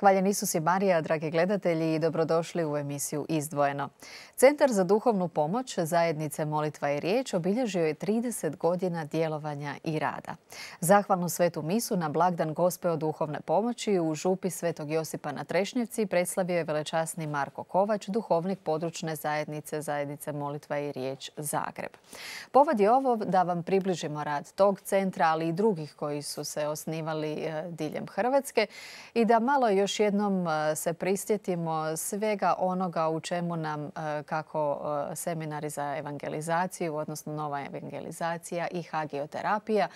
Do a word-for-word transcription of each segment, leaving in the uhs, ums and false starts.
Hvaljen Isus i Marija, dragi gledatelji, i dobrodošli u emisiju Izdvojeno. Centar za duhovnu pomoć Zajednice Molitva i riječ obilježio je trideset godina djelovanja i rada. Zahvalnu svetu misu na blagdan Gospe duhovne pomoći u župi Svetog Josipa na Trešnjevci predstavio je velečasni Marko Kovač, duhovnik područne zajednice Zajednice Molitva i riječ Zagreb. Povod je ovo da vam približimo rad tog centra, ali i drugih koji su se osnivali diljem Hrvatske i da malo još Još jednom se prisjetimo svega onoga u čemu nam kako seminari za evangelizaciju, odnosno nova evangelizacija i hagioterapija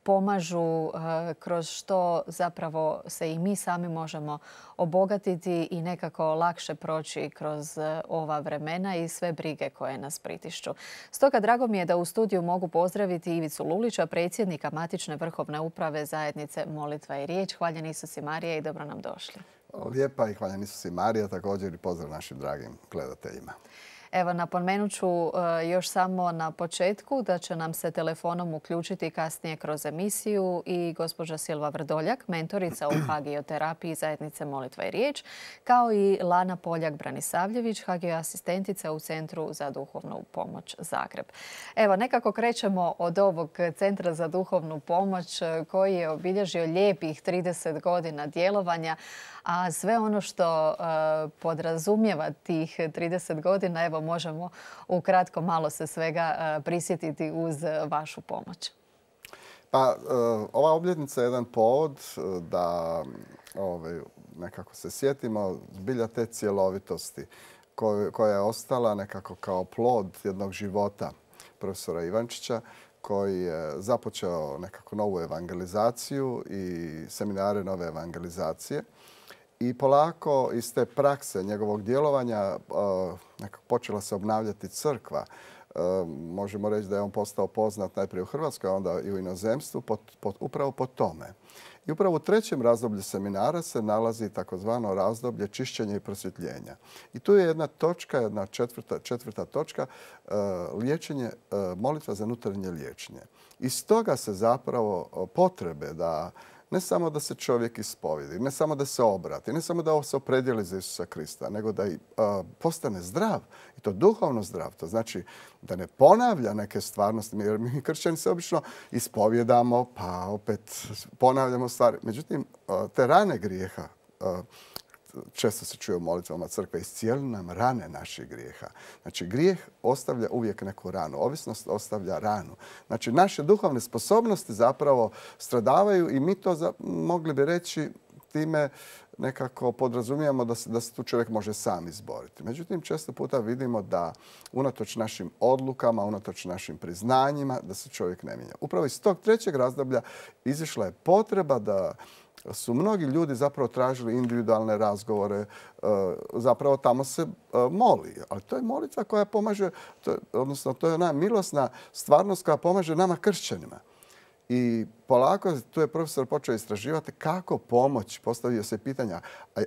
pomažu, kroz što zapravo se i mi sami možemo obogatiti i nekako lakše proći kroz ova vremena i sve brige koje nas pritišću. Stoga drago mi je da u studiju mogu pozdraviti Ivicu Lulića, predsjednika matične vrhovne uprave Zajednice Molitva i riječ. Hvaljen Isus i Marija i dobro nam došli. Lijepa i hvaljen Isus i Marija, također i pozdrav našim dragim gledateljima. Evo, napomenut ću još samo na početku da će nam se telefonom uključiti kasnije kroz emisiju i gospođa Silva Vrdoljak, mentorica u hagioterapiji Zajednice Molitva i riječ, kao i Lana Poljak-Branisavljević, hagioasistentica u Centru za duhovnu pomoć Zagreb. Evo, nekako krećemo od ovog Centra za duhovnu pomoć koji je obilježio lijepih trideset godina djelovanja, a sve ono što podrazumijeva tih trideset godina, evo, možemo ukratko malo se svega prisjetiti uz vašu pomoć. Pa, ova obljetnica je jedan povod da nekako se sjetimo zbilja te cjelovitosti koja je ostala nekako kao plod jednog života profesora Ivančića, koji je započeo nekako novu evangelizaciju i seminare nove evangelizacije. I polako iz te prakse njegovog djelovanja nekako počela se obnavljati crkva. Možemo reći da je on postao poznat najprije u Hrvatskoj, a onda i u inozemstvu, upravo po tome. I upravo u trećem razdoblju seminara se nalazi takozvano razdoblje čišćenja i prosvjetljenja. I tu je jedna točka, jedna četvrta, četvrta točka, liječenje, molitva za unutarnje liječenje. Iz toga se zapravo potrebe da ne samo da se čovjek ispovijedi, ne samo da se obrati, ne samo da se opredijeli za Isusa Krista, nego da i postane zdrav, i to duhovno zdrav. To znači da ne ponavlja neke stvarnosti, jer mi kršćani se obično ispovjedamo, pa opet ponavljamo stvari. Međutim, te rane grijeha, često se čuje u molitvama crkve, iscijeli nam rane naših grijeha. Znači, grijeh ostavlja uvijek neku ranu. Ovisnost ostavlja ranu. Znači, naše duhovne sposobnosti zapravo stradavaju i mi to mogli bi reći time nekako podrazumijemo da se, da se tu čovjek može sam izboriti. Međutim, često puta vidimo da unatoč našim odlukama, unatoč našim priznanjima, da se čovjek ne mijenja. Upravo iz tog trećeg razdoblja izišla je potreba da su mnogi ljudi zapravo tražili individualne razgovore, zapravo tamo se moli. Ali to je molitva koja pomaže, odnosno to je ona milosna stvarnost koja pomaže nama kršćanima. I polako tu je profesor počeo istraživati kako pomoći. Postavio se pitanja,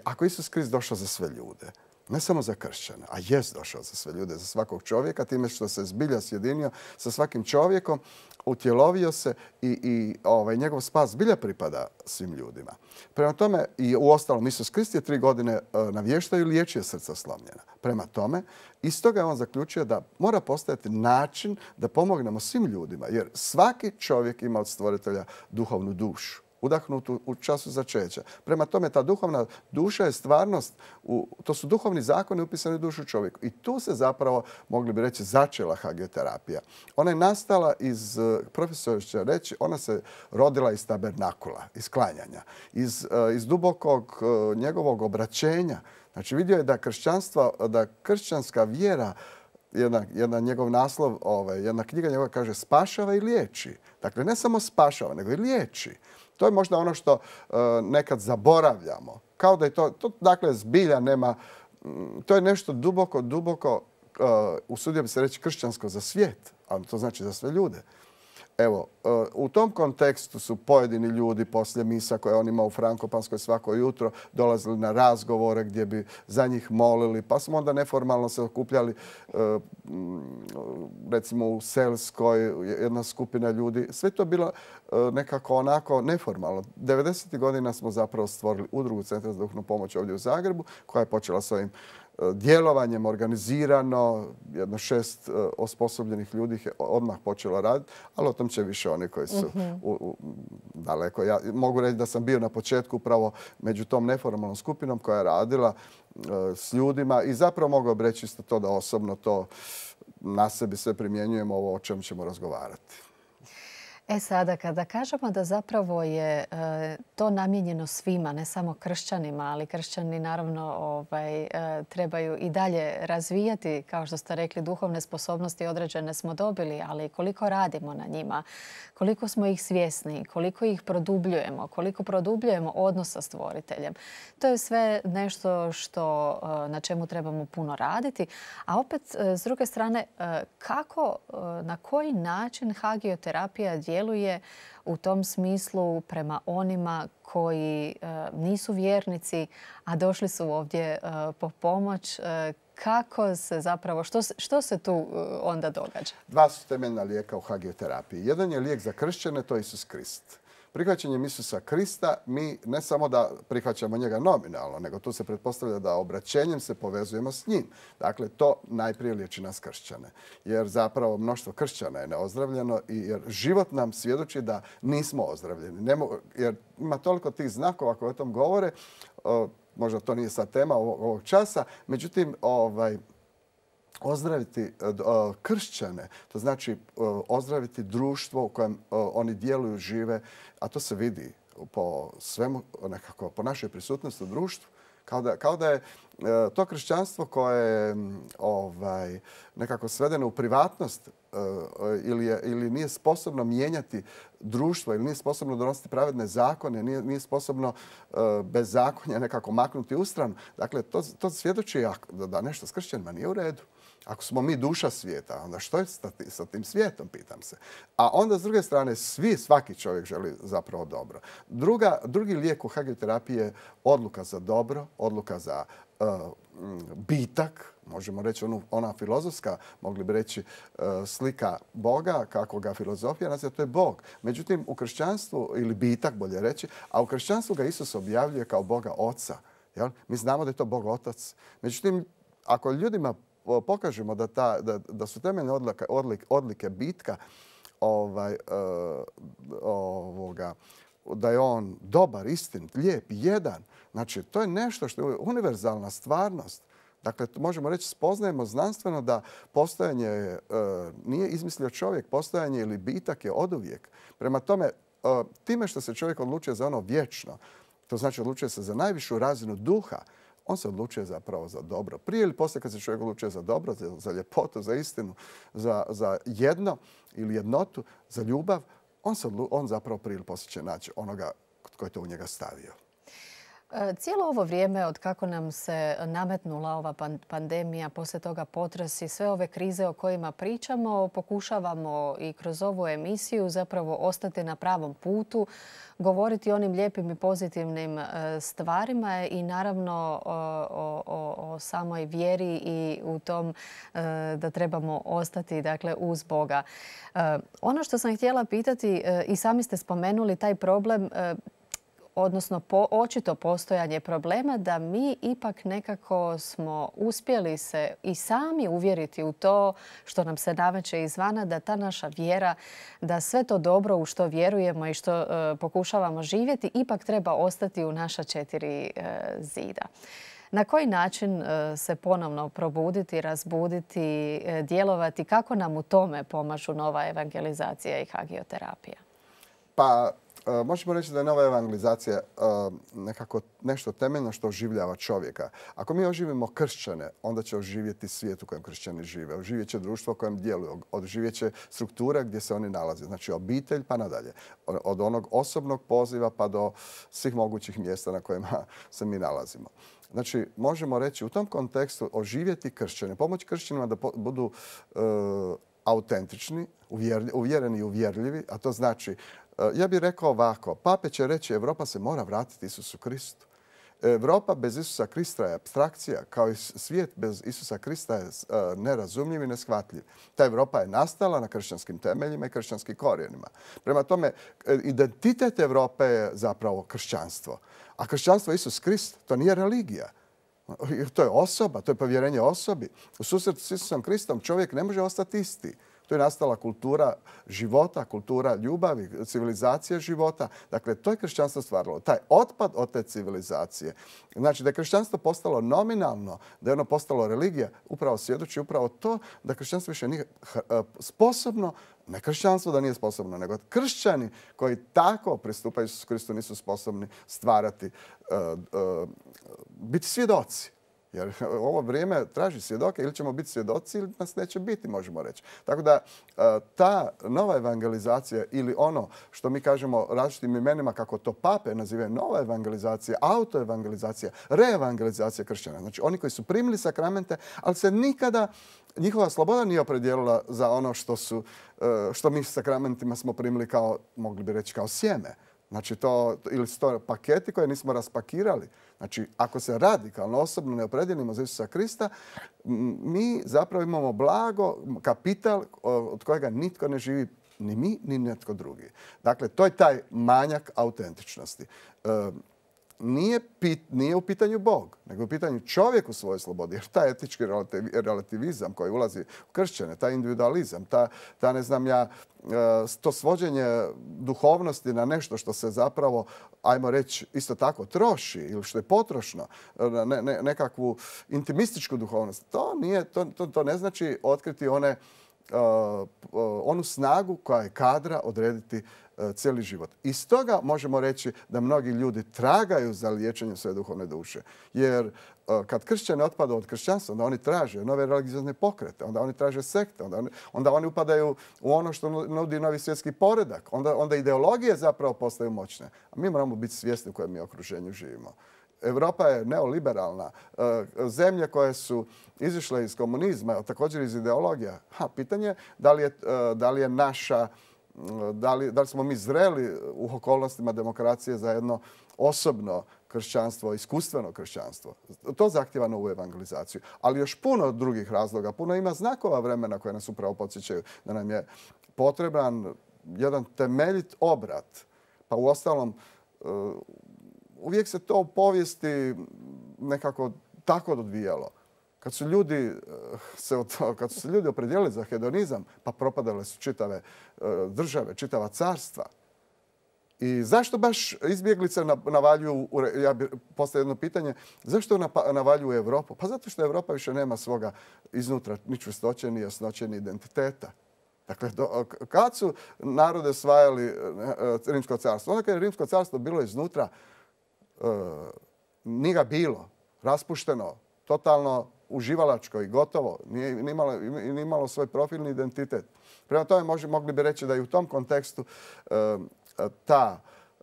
ako Isus Krist došao za sve ljude, ne samo za kršćana, a jest došao za sve ljude, za svakog čovjeka, time što se zbilja sjedinio sa svakim čovjekom, utjelovio se i, i ovaj, njegov spas zbilja pripada svim ljudima. Prema tome, i u ostalom, Isus Krist je tri godine navještao i liječio srca slomljena. Prema tome, iz toga je on zaključio da mora postojati način da pomognemo svim ljudima, jer svaki čovjek ima od stvoritelja duhovnu dušu, udahnutu u času začeća. Prema tome, ta duhovna duša je stvarnost, u, to su duhovni zakoni upisani u dušu čovjeku. I tu se zapravo, mogli bi reći, začela hagioterapija. Ona je nastala iz, profesor će reći, ona se rodila iz tabernakula, iz klanjanja, iz, iz dubokog njegovog obraćenja. Znači, vidio je da kršćanstvo, da kršćanska vjera, Jedna, jedna njegov naslov, ovaj, jedna knjiga njegova kaže spašava i liječi. Dakle, ne samo spašava, nego i liječi. To je možda ono što uh, nekad zaboravljamo. Kao da je to, to dakle, zbilja nema, m, to je nešto duboko, duboko, uh, usudio bi se reći kršćansko za svijet, ali to znači za sve ljude. Evo, u tom kontekstu su pojedini ljudi poslije misa koje on ima u Frankopanskoj svako jutro dolazili na razgovore gdje bi za njih molili, pa smo onda neformalno se okupljali recimo u Selskoj, jedna skupina ljudi. Sve to bilo nekako onako neformalno. devedesetih godina smo zapravo stvorili udrugu Centra za duhovnu pomoć ovdje u Zagrebu koja je počela s ovim djelovanjem organizirano, jedno šest osposobljenih ljudi je odmah počelo raditi, ali o tom će više oni koji su u, u, daleko. Ja mogu reći da sam bio na početku upravo među tom neformalnom skupinom koja je radila uh, s ljudima i zapravo mogu reći isto to da osobno to na sebi sve primjenjujemo ovo o čemu ćemo razgovarati. E sada, kada kažemo da zapravo je e, to namijenjeno svima, ne samo kršćanima, ali kršćani naravno ovaj, e, trebaju i dalje razvijati, kao što ste rekli, duhovne sposobnosti određene smo dobili, ali koliko radimo na njima, koliko smo ih svjesni, koliko ih produbljujemo, koliko produbljujemo odnos sa stvoriteljem. To je sve nešto što, e, na čemu trebamo puno raditi. A opet, e, s druge strane, e, kako, e, na koji način hagioterapija djeluje u tom smislu prema onima koji e, nisu vjernici, a došli su ovdje e, po pomoć. E, kako se zapravo, što, što se tu e, onda događa? Dva su temeljna lijeka u hagioterapiji. Jedan je lijek za kršćane, to je Isus Krist. Prihvaćanjem Isusa Krista mi ne samo da prihvaćamo njega nominalno, nego tu se pretpostavlja da obraćenjem se povezujemo s njim. Dakle, to najprije liječi nas kršćane. Jer zapravo mnoštvo kršćana je neozdravljeno i jer život nam svjedoči da nismo ozdravljeni. Nemo, jer ima toliko tih znakova koji o tom govore, o, možda to nije sad tema ovog, ovog časa, međutim, ovaj, ozdraviti kršćane, to znači ozdraviti društvo u kojem oni djeluju, žive, a to se vidi po svemu, nekako po našoj prisutnosti u društvu. Kao da, kao da je to kršćanstvo koje je ovaj, nekako svedeno u privatnost ili, je, ili nije sposobno mijenjati društvo ili nije sposobno donositi pravedne zakone, nije, nije sposobno bez zakonja nekako maknuti u stranu. Dakle, to, to svjedoči da nešto s kršćanima nije u redu. Ako smo mi duša svijeta, onda što je sa tim svijetom, pitam se. A onda, s druge strane, svi, svaki čovjek želi zapravo dobro. Druga, drugi lijek u hagioterapiji je odluka za dobro, odluka za uh, bitak, možemo reći onu, ona filozofska, mogli bi reći uh, slika Boga, kako ga filozofija naziva, to je Bog. Međutim, u kršćanstvu, ili bitak bolje reći, a u kršćanstvu ga Isus objavljuje kao Boga Oca. Jel? Mi znamo da je to Bog Otac. Međutim, ako ljudima pokažemo da, ta, da, da su temeljne odlike, odlike, odlike bitka ovaj, uh, ovoga, da je on dobar, istinit, lijep, jedan. Znači, to je nešto što je univerzalna stvarnost. Dakle, možemo reći, spoznajemo znanstveno da postojanje uh, nije izmislio čovjek, postojanje ili bitak je oduvijek. Prema tome, uh, time što se čovjek odlučuje za ono vječno, to znači odlučuje se za najvišu razinu duha, on se odlučuje zapravo za dobro. Prije ili poslije kad se čovjek odlučuje za dobro, za, za ljepotu, za istinu, za, za jedno ili jednotu, za ljubav, on, se, on zapravo prije ili poslije će naći onoga koji je to u njega stavio. Cijelo ovo vrijeme od kako nam se nametnula ova pandemija, poslije toga potresi, sve ove krize o kojima pričamo, pokušavamo i kroz ovu emisiju zapravo ostati na pravom putu, govoriti o onim lijepim i pozitivnim stvarima i naravno o, o, o samoj vjeri i u tom da trebamo ostati, dakle, uz Boga. Ono što sam htjela pitati, i sami ste spomenuli taj problem, odnosno po, očito postojanje problema da mi ipak nekako smo uspjeli se i sami uvjeriti u to što nam se nameće izvana, da ta naša vjera, da sve to dobro u što vjerujemo i što e, pokušavamo živjeti ipak treba ostati u naša četiri e, zida. Na koji način e, se ponovno probuditi, razbuditi, e, djelovati? Kako nam u tome pomažu nova evangelizacija i hagioterapija? Pa, možemo reći da je nova evangelizacija nekako nešto temeljno što oživljava čovjeka. Ako mi oživimo kršćane, onda će oživjeti svijet u kojem kršćani žive. Oživjet će društvo u kojem djeluju. Oživjet će struktura gdje se oni nalaze. Znači obitelj pa nadalje. Od onog osobnog poziva pa do svih mogućih mjesta na kojima se mi nalazimo. Znači, možemo reći u tom kontekstu oživjeti kršćane, pomoći kršćanima da budu autentični, uvjereni i uvjerljivi, a to znači, ja bih rekao ovako, pape će reći Europa se mora vratiti Isusu Kristu. Europa bez Isusa Krista je apstrakcija, kao i svijet bez Isusa Krista je nerazumljiv i neshvatljiv. Ta Europa je nastala na kršćanskim temeljima i kršćanskim korijenima. Prema tome, identitet Europe je zapravo kršćanstvo. A kršćanstvo je Isus Krist, to nije religija. To je osoba, to je povjerenje osobi. U susretu s Isusom Kristom čovjek ne može ostati isti. To je nastala kultura života, kultura ljubavi, civilizacija života. Dakle, to je kršćanstvo stvaralo. Taj otpad od te civilizacije. Znači da je kršćanstvo postalo nominalno, da je ono postalo religija, upravo svjedoči upravo to da kršćanstvo više nije sposobno, ne kršćanstvo da nije sposobno, nego kršćani koji tako pristupaju Isusu Kristu nisu sposobni stvarati, uh, uh, biti svjedoci. Jer ovo vrijeme traži svjedoke, ili ćemo biti svjedoci ili nas neće biti, možemo reći. Tako da ta nova evangelizacija ili ono što mi kažemo različitim imenima, kako to pape nazivaju, nova evangelizacija, autoevangelizacija, reevangelizacija kršćana. Znači oni koji su primili sakramente, ali se nikada njihova sloboda nije opredijelila za ono što, su, što mi sakramentima smo primili kao, mogli bi reći, kao sjeme. Znači to, ili su to paketi koje nismo raspakirali. Znači, ako se radikalno, osobno ne opredijelimo za Isusa Krista, mi zapravo imamo blago, kapital od kojega nitko ne živi, ni mi, ni netko drugi. Dakle, to je taj manjak autentičnosti. E, nije, pit, nije u pitanju Bog, nego u pitanju čovjek u svojoj slobodi. Jer taj etički relativizam koji ulazi u kršćane, taj individualizam, ta, ta ne znam ja, to svođenje duhovnosti na nešto što se zapravo, ajmo reći, isto tako troši ili što je potrošno, ne, ne, nekakvu intimističku duhovnost, to, nije, to, to, to ne znači otkriti one, uh, uh, onu snagu koja je kadra odrediti uh, cijeli život. I stoga možemo reći da mnogi ljudi tragaju za liječenjem svoje duhovne duše. Jer kad kršćani otpadaju od kršćanstva, onda oni traže nove religiozne pokrete, onda oni traže sekte, onda oni, onda oni upadaju u ono što nudi novi svjetski poredak, onda, onda ideologije zapravo postaju moćne. A mi moramo biti svjesni u kojem mi okruženju živimo. Europa je neoliberalna. Zemlje koje su izišle iz komunizma, također iz ideologija. Ha, pitanje je da li je, da li je naša, da li, da li smo mi zreli u okolnostima demokracije za jedno osobno kršćanstvo, iskustveno kršćanstvo. To zahtjeva novu evangelizaciju. Ali još puno drugih razloga, puno ima znakova vremena koje nas upravo podsjećaju da nam je potreban jedan temeljit obrat. Pa uostalom, uvijek se to u povijesti nekako tako odvijalo. Kad su ljudi se, kad su se ljudi opredijelili za hedonizam, pa propadale su čitave države, čitava carstva. I zašto baš izbjeglice navaljuju, ja bih postavio jedno pitanje, zašto navaljuju Europu? Pa zato što Europa više nema svoga iznutra ni čvrstoće, ni jasnoće, ni identiteta. Dakle, do, kad su narode osvajali Rimsko carstvo? Onda kad je Rimsko carstvo bilo iznutra, uh, nije ga bilo, raspušteno, totalno uživalačko i gotovo, nije, nije, imalo, nije imalo svoj profilni identitet. Prema tome može, mogli bi reći da i u tom kontekstu uh, ta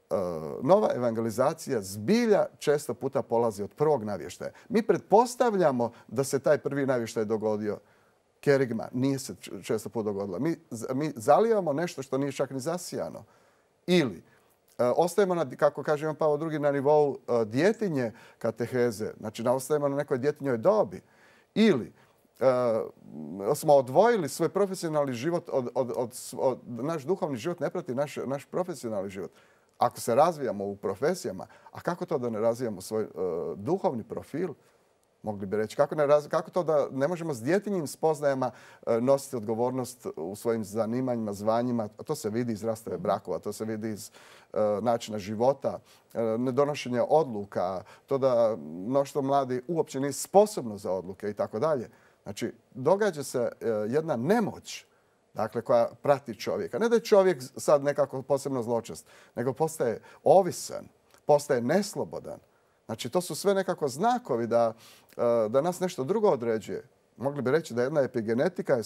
uh, nova evangelizacija zbilja često puta polazi od prvog navještaja. Mi pretpostavljamo da se taj prvi navještaj dogodio. Kerigma nije se često puta dogodila. Mi, mi zalijevamo nešto što nije čak ni zasijano. Ili uh, ostajemo, na, kako kaže Ivan Pavao drugi, na nivou uh, djetinje kateheze. Znači, ostajemo na nekoj djetinjoj dobi. Ili Uh, smo odvojili svoj profesionalni život od, od, od, od naš duhovni život ne prati naš, naš profesionalni život. Ako se razvijamo u profesijama, a kako to da ne razvijamo svoj uh, duhovni profil? Mogli bi reći, kako, ne raz, kako to da ne možemo s djetinjim spoznajama uh, nositi odgovornost u svojim zanimanjima, zvanjima? To se vidi iz rastave brakova, to se vidi iz uh, načina života, uh, nedonošenja odluka, to da mnoštvo mladi uopće nije sposobno za odluke i tako dalje. Znači, događa se jedna nemoć, dakle, koja prati čovjeka. Ne da je čovjek sad nekako posebno zločest, nego postaje ovisan, postaje neslobodan. Znači, to su sve nekako znakovi da, da nas nešto drugo određuje. Mogli bi reći da jedna epigenetika je,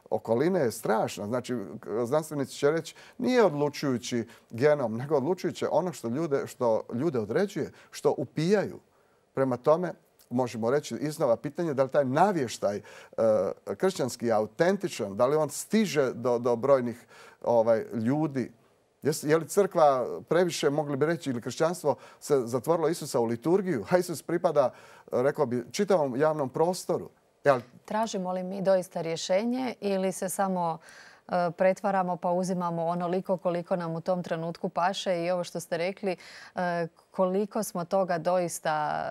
okoline je strašna. Znači, znanstvenici će reći nije odlučujući genom, nego odlučujuće ono što ljude, što ljude određuje, što upijaju. Prema tome, možemo reći iznova pitanje da li taj navještaj kršćanski je autentičan, da li on stiže do, do brojnih ovaj, ljudi. Je li crkva previše, mogli bi reći, ili kršćanstvo se zatvorilo Isusa u liturgiju, a Isus pripada, rekao bi, čitavom javnom prostoru. Jel? Tražimo li mi doista rješenje ili se samo pretvaramo pa uzimamo onoliko koliko nam u tom trenutku paše i ovo što ste rekli, koliko smo toga doista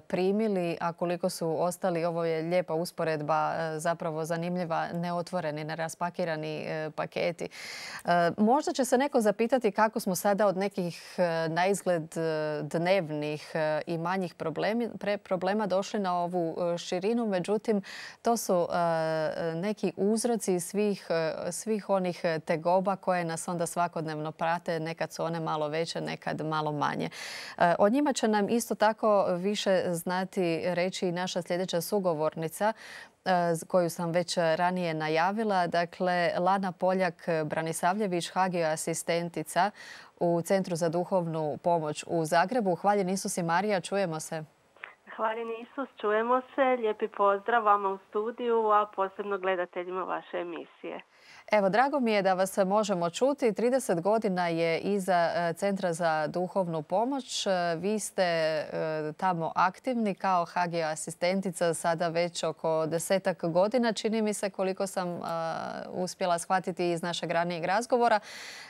primili, a koliko su ostali, ovo je lijepa usporedba, zapravo zanimljiva, neotvoreni, neraspakirani paketi. Možda će se neko zapitati kako smo sada od nekih naizgled dnevnih i manjih problema došli na ovu širinu. Međutim, to su neki uzroci svih, svih onih tegoba koje nas onda svakodnevno prate. Nekad su one malo veće, nekad malo manje. O njima će nam isto tako više znati reći i naša sljedeća sugovornica koju sam već ranije najavila. Dakle, Lana Poljak-Branisavljević, Hagio asistentica u Centru za duhovnu pomoć u Zagrebu. Hvaljen Isus i Marija, čujemo se. Hvaljen Isus, čujemo se. Lijepi pozdrav vama u studiju, a posebno gledateljima vaše emisije. Evo, drago mi je da vas možemo čuti. trideset godina je iza Centra za duhovnu pomoć. Vi ste tamo aktivni kao Hagio asistentica sada već oko desetak godina. Čini mi se, koliko sam uspjela shvatiti iz našeg ranijeg razgovora.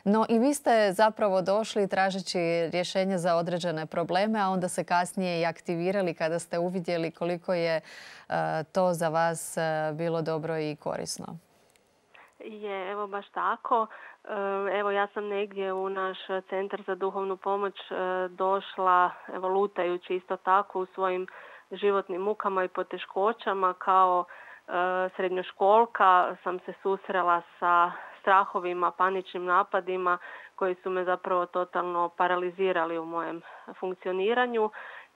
No i vi ste zapravo došli tražeći rješenje za određene probleme, a onda se kasnije i aktivirali kada ste uvidjeli koliko je to za vas bilo dobro i korisno. Je, evo baš tako. Evo ja sam negdje u naš Centar za duhovnu pomoć došla, evo lutajući isto tako u svojim životnim mukama i poteškoćama. Kao srednjoškolka sam se susrela sa strahovima, paničnim napadima koji su me zapravo totalno paralizirali u mojem funkcioniranju.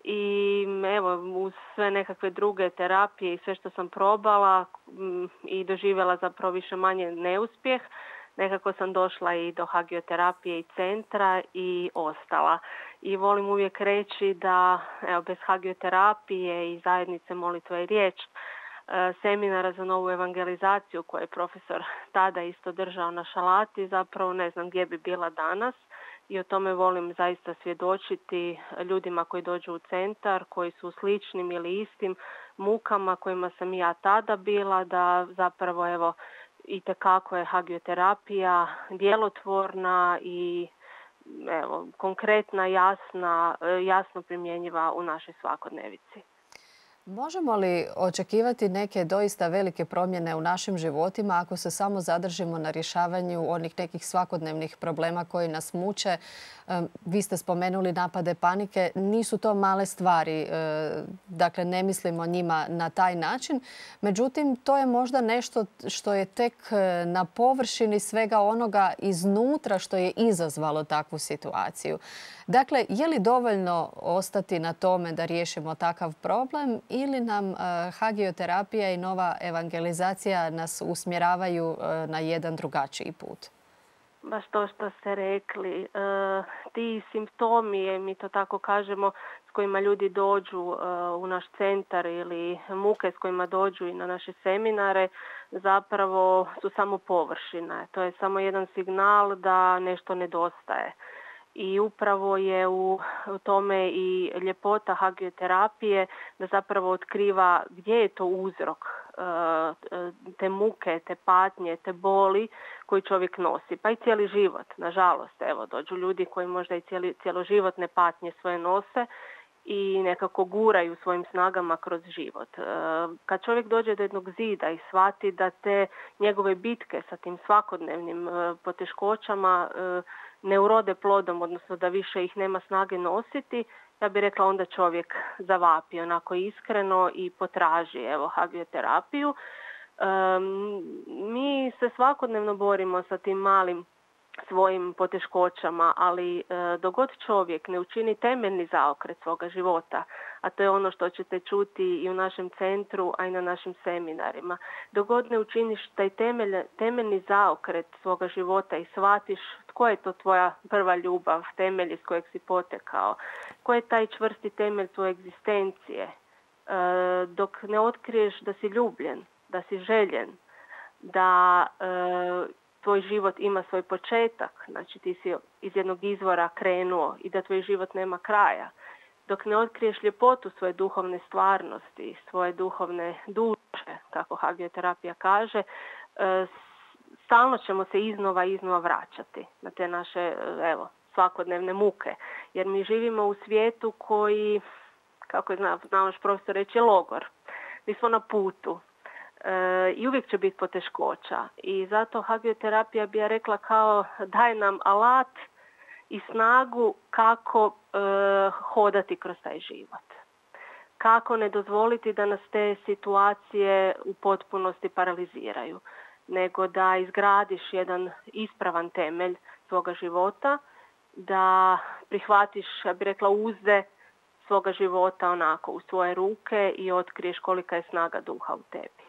I evo, uz sve nekakve druge terapije i sve što sam probala i doživjela zapravo više manje neuspjeh, nekako sam došla i do hagioterapije i centra i ostala. I volim uvijek reći da evo, bez hagioterapije i zajednice Molitva i riječ, seminara za novu evangelizaciju koje je profesor tada isto držao na Šalati, zapravo ne znam gdje bi bila danas. I o tome volim zaista svjedočiti ljudima koji dođu u centar, koji su sličnim ili istim mukama kojima sam i ja tada bila, da zapravo evo itekako je hagioterapija djelotvorna i evo konkretna, jasna, jasno primjenjiva u našoj svakodnevici. Možemo li očekivati neke doista velike promjene u našim životima ako se samo zadržimo na rješavanju onih nekih svakodnevnih problema koji nas muče? Vi ste spomenuli napade panike. Nisu to male stvari. Dakle, ne mislimo njima na taj način. Međutim, to je možda nešto što je tek na površini svega onoga iznutra što je izazvalo takvu situaciju. Dakle, je li dovoljno ostati na tome da riješimo takav problem ili nam hagioterapija i nova evangelizacija nas usmjeravaju na jedan drugačiji put? Baš to što ste rekli. E, ti simptomi, mi to tako kažemo, s kojima ljudi dođu e, u naš centar ili muke s kojima dođu i na naše seminare, zapravo su samo površina. To je samo jedan signal da nešto nedostaje. I upravo je u tome i ljepota hagioterapije da zapravo otkriva gdje je to uzrok te muke, te patnje, te boli koji čovjek nosi. Pa i cijeli život, nažalost. Evo, dođu ljudi koji možda i cijeli, cjeloživotne patnje svoje nose i nekako guraju svojim snagama kroz život. Kad čovjek dođe do jednog zida i shvati da te njegove bitke sa tim svakodnevnim poteškoćama ne urode plodom, odnosno da više ih nema snage nositi, ja bih rekla onda čovjek zavapi onako iskreno i potraži evo hagioterapiju. Um, mi se svakodnevno borimo sa tim malim svojim poteškoćama, ali e, dogod čovjek ne učini temeljni zaokret svoga života, a to je ono što ćete čuti i u našem centru, a i na našim seminarima, dogod ne učiniš taj temelj, temeljni zaokret svoga života i shvatiš tko je to tvoja prva ljubav, temelj iz kojeg si potekao, ko je taj čvrsti temelj tvoje egzistencije dok ne otkriješ da si ljubljen, da si željen, da tvoj život ima svoj početak, znači ti si iz jednog izvora krenuo i da tvoj život nema kraja, dok ne otkriješ ljepotu svoje duhovne stvarnosti, svoje duhovne duše, kako hagioterapija kaže, stalno ćemo se iznova i iznova vraćati na te naše, evo, svakodnevne muke. Jer mi živimo u svijetu koji, kako je znao naš profesor reći, je logor. Mi smo na putu. E, I uvijek će biti poteškoća. I zato hagioterapija bi ja rekla kao daje nam alat i snagu kako e, hodati kroz taj život. Kako ne dozvoliti da nas te situacije u potpunosti paraliziraju, nego da izgradiš jedan ispravan temelj svoga života, da prihvatiš, ja bih rekla, uzde svoga života onako u svoje ruke i otkriješ kolika je snaga duha u tebi.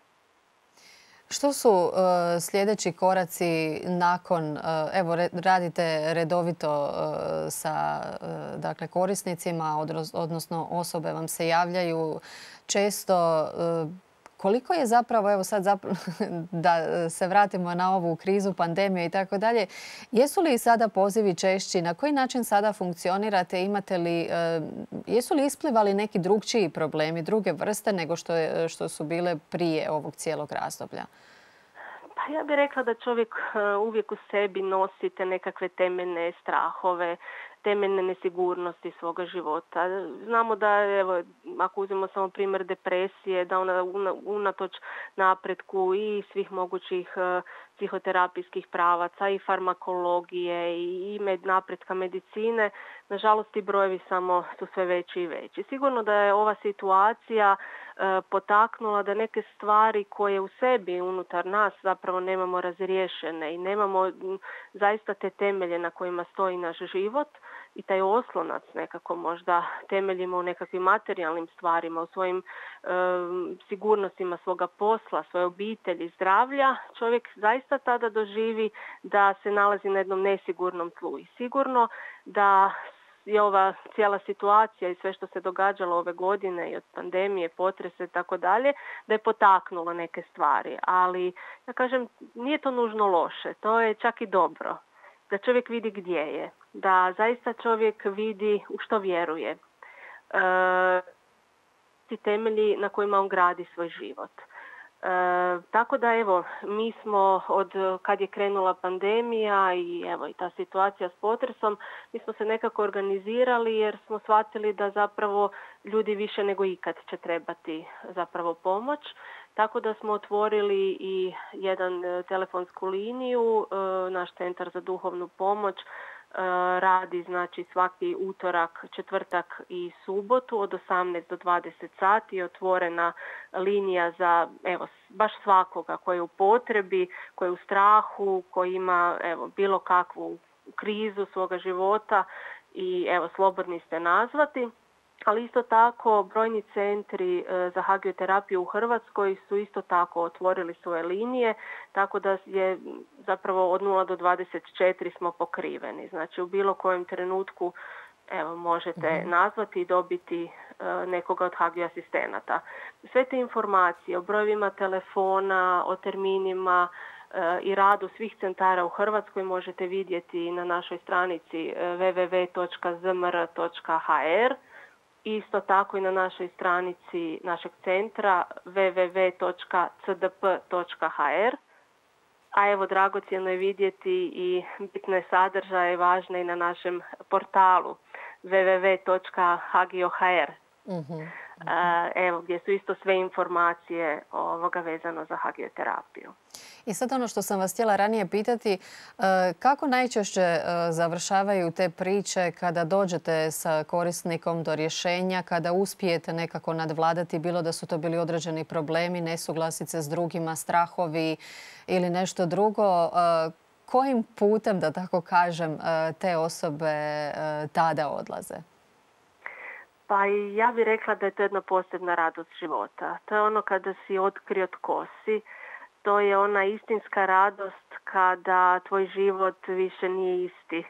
Što su uh, sljedeći koraci nakon, uh, evo radite redovito uh, sa uh, dakle, korisnicima, odnosno osobe vam se javljaju često. Uh, Koliko je zapravo, evo sad zapravo, da se vratimo na ovu krizu, pandemiju i tako dalje, jesu li sada pozivi češći? Na koji način sada funkcionirate? Imate li, jesu li isplivali neki drugčiji problemi, druge vrste nego što, je, što su bile prije ovog cijelog razdoblja? Pa ja bih rekla da čovjek uvijek u sebi nosi te nekakve temeljne strahove, temeljne nesigurnosti svoga života. Znamo da, evo, ako uzmemo samo primjer depresije, da ona unatoč napretku i svih mogućih psihoterapijskih pravaca i farmakologije i napretka medicine, nažalost ti brojevi samo su sve veći i veći. Sigurno da je ova situacija potaknula da neke stvari koje u sebi unutar nas zapravo nemamo razriješene i nemamo zaista te temelje na kojima stoji naš život i taj oslonac nekako možda temeljimo u nekakvim materijalnim stvarima, u svojim e, sigurnostima svoga posla, svoje obitelji, zdravlja, čovjek zaista tada doživi da se nalazi na jednom nesigurnom tlu. I sigurno da je ova cijela situacija i sve što se događalo ove godine i od pandemije, potrese i tako dalje, da je potaknulo neke stvari. Ali, ja kažem, nije to nužno loše, to je čak i dobro. Da čovjek vidi gdje je, da zaista čovjek vidi u što vjeruje. E, ti temelji na kojima on gradi svoj život. E, tako da evo, mi smo od kad je krenula pandemija i evo i ta situacija s potresom, mi smo se nekako organizirali jer smo shvatili da zapravo ljudi više nego ikad će trebati zapravo pomoć. Tako da smo otvorili i jedan telefonsku liniju, naš centar za duhovnu pomoć radi znači svaki utorak, četvrtak i subotu od osamnaest do dvadeset sati, otvorena linija za evo baš svakoga koji je u potrebi, koji je u strahu, koji ima evo bilo kakvu krizu svoga života i evo slobodni ste nazvati. Ali isto tako brojni centri za hagioterapiju u Hrvatskoj su isto tako otvorili svoje linije, tako da je zapravo od nula do dvadeset četiri smo pokriveni. Znači u bilo kojem trenutku evo, možete mm-hmm. nazvati i dobiti nekoga od hagio asistenata. Sve te informacije o brojevima telefona, o terminima i radu svih centara u Hrvatskoj možete vidjeti na našoj stranici w w w točka z m r točka h r. Isto tako i na našoj stranici našeg centra w w w točka c d p točka h r. A evo, dragocjeno je vidjeti i bitne sadržaje važne i na našem portalu w w w točka hagio točka h r. Mm-hmm. Evo, gdje su isto sve informacije ovoga vezano za hagioterapiju. I sad ono što sam vas htjela ranije pitati, kako najčešće završavaju te priče kada dođete sa korisnikom do rješenja, kada uspijete nekako nadvladati, bilo da su to bili određeni problemi, nesuglasice s drugima, strahovi ili nešto drugo, kojim putem, da tako kažem, te osobe tada odlaze? Pa ja bih rekla da je to jedna posebna radost života. To je ono kada si otkrio tko si. To je ona istinska radost kada tvoj život više nije isti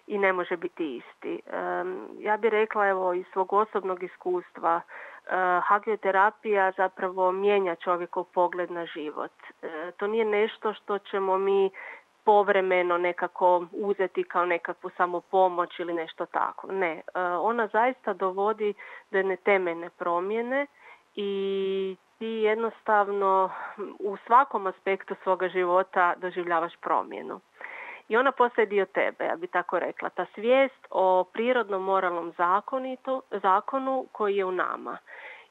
i ne može biti isti. Ja bih rekla evo iz svog osobnog iskustva hagioterapija zapravo mijenja čovjekov pogled na život. To nije nešto što ćemo mi povremeno nekako uzeti kao nekakvu samopomoć ili nešto tako. Ne, ona zaista dovodi do jedne temeljne promjene i ti jednostavno u svakom aspektu svoga života doživljavaš promjenu. I ona postaje dio tebe, ja bi tako rekla. Ta svijest o prirodnom moralnom zakonitu, zakonu koji je u nama.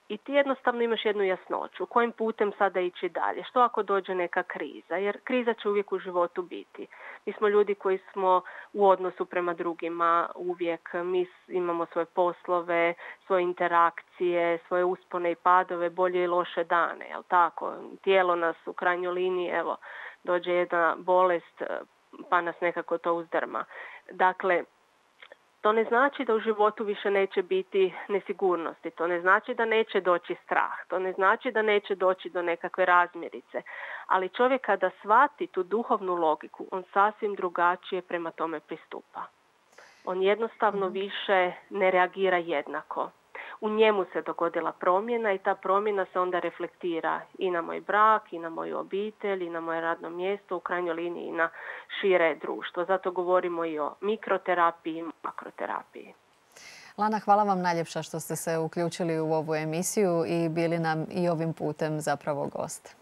I ti jednostavno imaš jednu jasnoću. Kojim putem sada ići dalje? Što ako dođe neka kriza? Jer kriza će uvijek u životu biti. Mi smo ljudi koji smo u odnosu prema drugima uvijek. Mi imamo svoje poslove, svoje interakcije, svoje uspone i padove, bolje i loše dane. Jel tako? Tijelo nas u krajnjoj liniji, evo, dođe jedna bolest pa nas nekako to uzdrma. Dakle, to ne znači da u životu više neće biti nesigurnosti, to ne znači da neće doći strah, to ne znači da neće doći do nekakve razmirice. Ali čovjek kada shvati tu duhovnu logiku, on sasvim drugačije prema tome pristupa. On jednostavno više ne reagira jednako. U njemu se dogodila promjena i ta promjena se onda reflektira i na moj brak, i na moju obitelj, i na moje radno mjesto, u krajnjoj liniji i na šire društvo. Zato govorimo i o mikroterapiji i makroterapiji. Lana, hvala vam najljepša što ste se uključili u ovu emisiju i bili nam i ovim putem zapravo gost.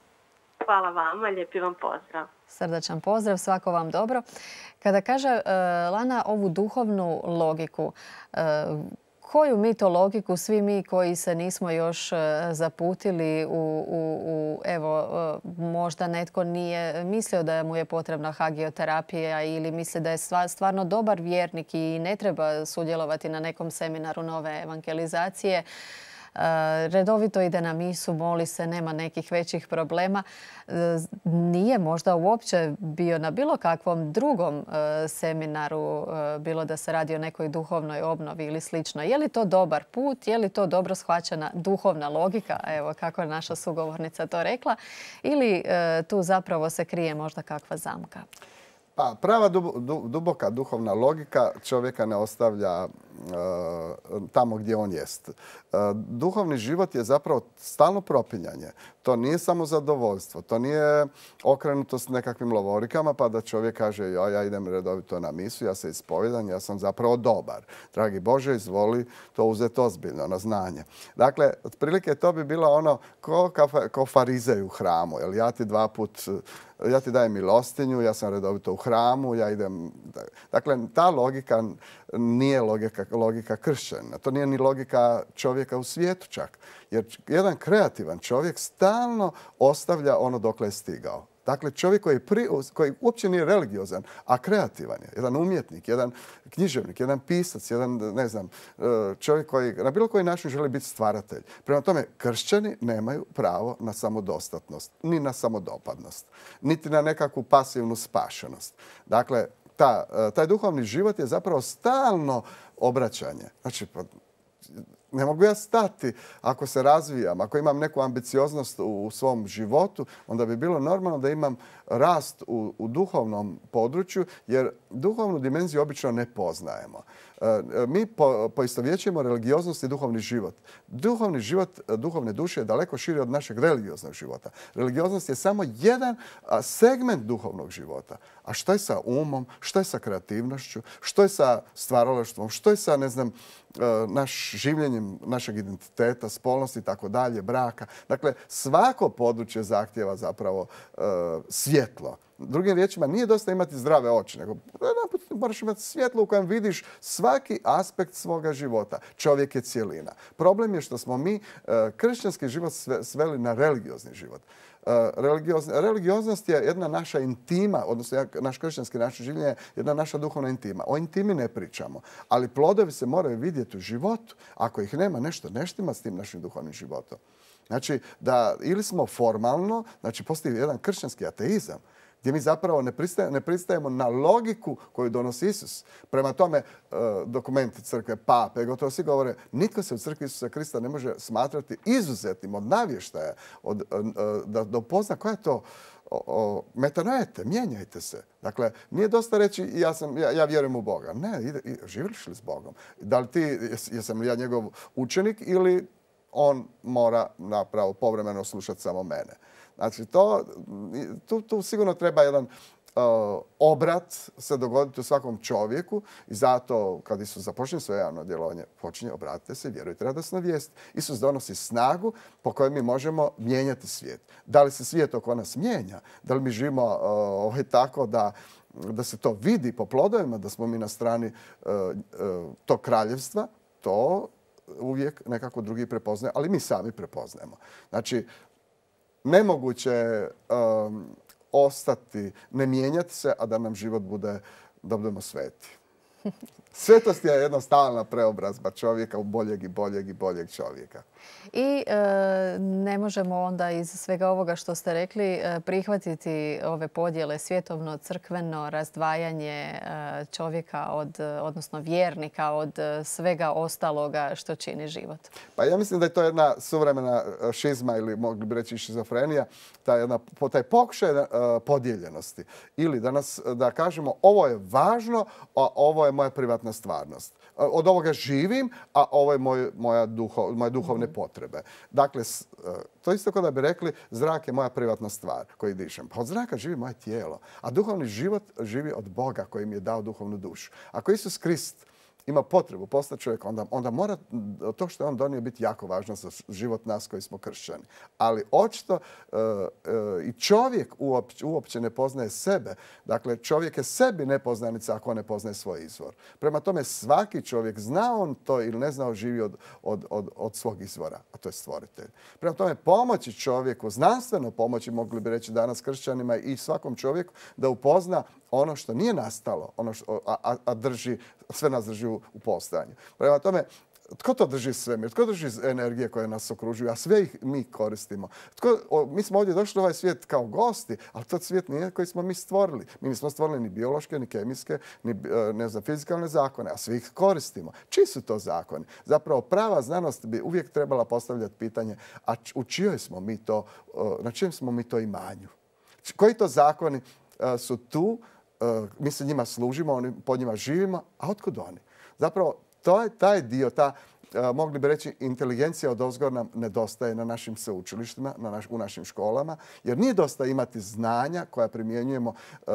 Hvala vama, lijepi vam pozdrav. Srdačan pozdrav, svako vam dobro. Kada kaže uh, Lana ovu duhovnu logiku, uh, koju mi to logiku, svi mi koji se nismo još zaputili u, u, u evo, možda netko nije mislio da mu je potrebna hagioterapija ili misli da je stvarno dobar vjernik i ne treba sudjelovati na nekom seminaru nove evangelizacije, redovito ide na misu, moli se, nema nekih većih problema. Nije možda uopće bio na bilo kakvom drugom seminaru, bilo da se radi o nekoj duhovnoj obnovi ili slično. Je li to dobar put? Je li to dobro shvaćena duhovna logika? Evo kako je naša sugovornica to rekla. Ili tu zapravo se krije možda kakva zamka? Pa, prava duboka duhovna logika čovjeka ne ostavlja tamo gdje on jest. Duhovni život je zapravo stalno propinjanje. To nije samo zadovoljstvo. To nije okrenutost nekakvim lovorikama pa da čovjek kaže ja, ja idem redovito na misu, ja se ispovijedam, ja sam zapravo dobar. Dragi Bože, izvoli to uzeti ozbiljno na znanje. Dakle, otprilike to bi bilo ono ko, ko farizej u hramu. Jel, ja ti dva put, ja ti dajem milostinju, ja sam redovito u hramu, ja idem... Dakle, ta logika nije logika, logika kršćana. To nije ni logika čovjeka u svijetu čak. Jer jedan kreativan čovjek stalno ostavlja ono dokle je stigao. Dakle, čovjek koji, pri, koji uopće nije religiozan, a kreativan je. Jedan umjetnik, jedan književnik, jedan pisac, jedan, ne znam, čovjek koji na bilo koji način želi biti stvaratelj. Prema tome, kršćani nemaju pravo na samodostatnost, ni na samodopadnost, niti na nekakvu pasivnu spašenost. Dakle, ta, taj duhovni život je zapravo stalno obraćanje. Znači, ne mogu ja stati ako se razvijam, ako imam neku ambicioznost u svom životu, onda bi bilo normalno da imam rast u, u duhovnom području, jer duhovnu dimenziju obično ne poznajemo. Mi po, poistovjećujemo religioznost i duhovni život. Duhovni život duhovne duše je daleko širi od našeg religioznog života. Religioznost je samo jedan segment duhovnog života. A što je sa umom, što je sa kreativnošću, što je sa stvaralaštvom, što je sa, ne znam, naš življenjem našeg identiteta, spolnosti i tako dalje, braka. Dakle, svako područje zahtjeva zapravo e, svjetlo. Drugim riječima, nije dosta imati zdrave oči, nego moraš imati svjetlo u kojem vidiš svaki aspekt svoga života. Čovjek je cijelina. Problem je što smo mi e, kršćanski život sveli na religiozni život. Religioznost je jedna naša intima, odnosno naš kršćanski način življenja je jedna naša duhovna intima. O intimi ne pričamo, ali plodovi se moraju vidjeti u životu. Ako ih nema, nešto ne štima s tim našim duhovnim životom. Znači, da ili smo formalno, znači postoji jedan kršćanski ateizam, gdje mi zapravo ne pristajemo, ne pristajemo na logiku koju donosi Isus. Prema tome, dokumenti crkve, pape, gotovo svi govore, nitko se u crkvi Isusa Krista ne može smatrati izuzetnim od navještaja, od, da dopozna koja je to metanoete, mijenjajte se. Dakle, nije dosta reći ja, sam, ja, ja vjerujem u Boga. Ne, ide, živiš li s Bogom? Da li ti, jesam li ja njegov učenik ili on mora napravo povremeno slušati samo mene. Znači, to, tu, tu sigurno treba jedan Uh, obrat se dogoditi u svakom čovjeku i zato kad Isus započne svoje javno djelovanje, počinje obratite se i vjerujte radosnu vijest. Isus donosi snagu po kojoj mi možemo mijenjati svijet. Da li se svijet oko nas mijenja? Da li mi živimo uh, ovaj, tako da, da se to vidi po plodovima, da smo mi na strani uh, uh, tog kraljevstva? To uvijek nekako drugi prepoznaje, ali mi sami prepoznajemo. Znači, nemoguće um, ostati, ne mijenjati se, a da nam život bude, da budemo sveti. Svetost je jedna stalna preobrazba čovjeka u boljeg i boljeg i boljeg čovjeka. I e, ne možemo onda iz svega ovoga što ste rekli e, prihvatiti ove podjele svjetovno, crkveno, razdvajanje e, čovjeka, od, odnosno vjernika od svega ostaloga što čini život. Pa ja mislim da je to jedna suvremena šizma ili mogli bi reći šizofrenija, taj, jedna, taj pokušaj uh, podijeljenosti. Ili da, nas, da kažemo ovo je važno, a ovo je moja privatna stvarnost. Od ovoga živim, a ovo je moj, moja duho, moje duhovne potrebe. Dakle, to isto kao da bi rekli zrak je moja privatna stvar koju dišem. Pa od zraka živi moje tijelo, a duhovni život živi od Boga koji mi je dao duhovnu dušu. Ako Isus Krist ima potrebu postati čovjek, onda, onda mora to što je on donio biti jako važno za život nas koji smo kršćani. Ali očito uh, uh, i čovjek uopće, uopće ne poznaje sebe. Dakle, čovjek je sebi nepoznanica ako ne poznaje svoj izvor. Prema tome, svaki čovjek, zna on to ili ne zna, živi od, od, od, od svog izvora, a to je stvoritelj. Prema tome, pomoći čovjeku, znanstveno pomoći, mogli bi reći danas kršćanima i svakom čovjeku, da upozna ono što nije nastalo, ono što, a, a drži, sve nas drži u, u postojanju. Prema tome, tko to drži svemir? Tko drži energije koje nas okružuju? A sve ih mi koristimo. Tko, o, mi smo ovdje došli u ovaj svijet kao gosti, ali to svijet nije koji smo mi stvorili. Mi nismo stvorili ni biološke, ni kemijske, ni ne znam, fizikalne zakone, a svi ih koristimo. Čiji su to zakoni? Zapravo prava znanost bi uvijek trebala postavljati pitanje, a u čijoj smo mi to, na čijem smo mi to imanju? Koji to zakoni su tu? Mi se njima služimo, oni, po njima živimo, a otkud oni? Zapravo, to je taj dio, ta, mogli bi reći, inteligencija odozgor nam nedostaje na našim sveučilištima, na naš, u našim školama, jer nije dosta imati znanja koja primjenjujemo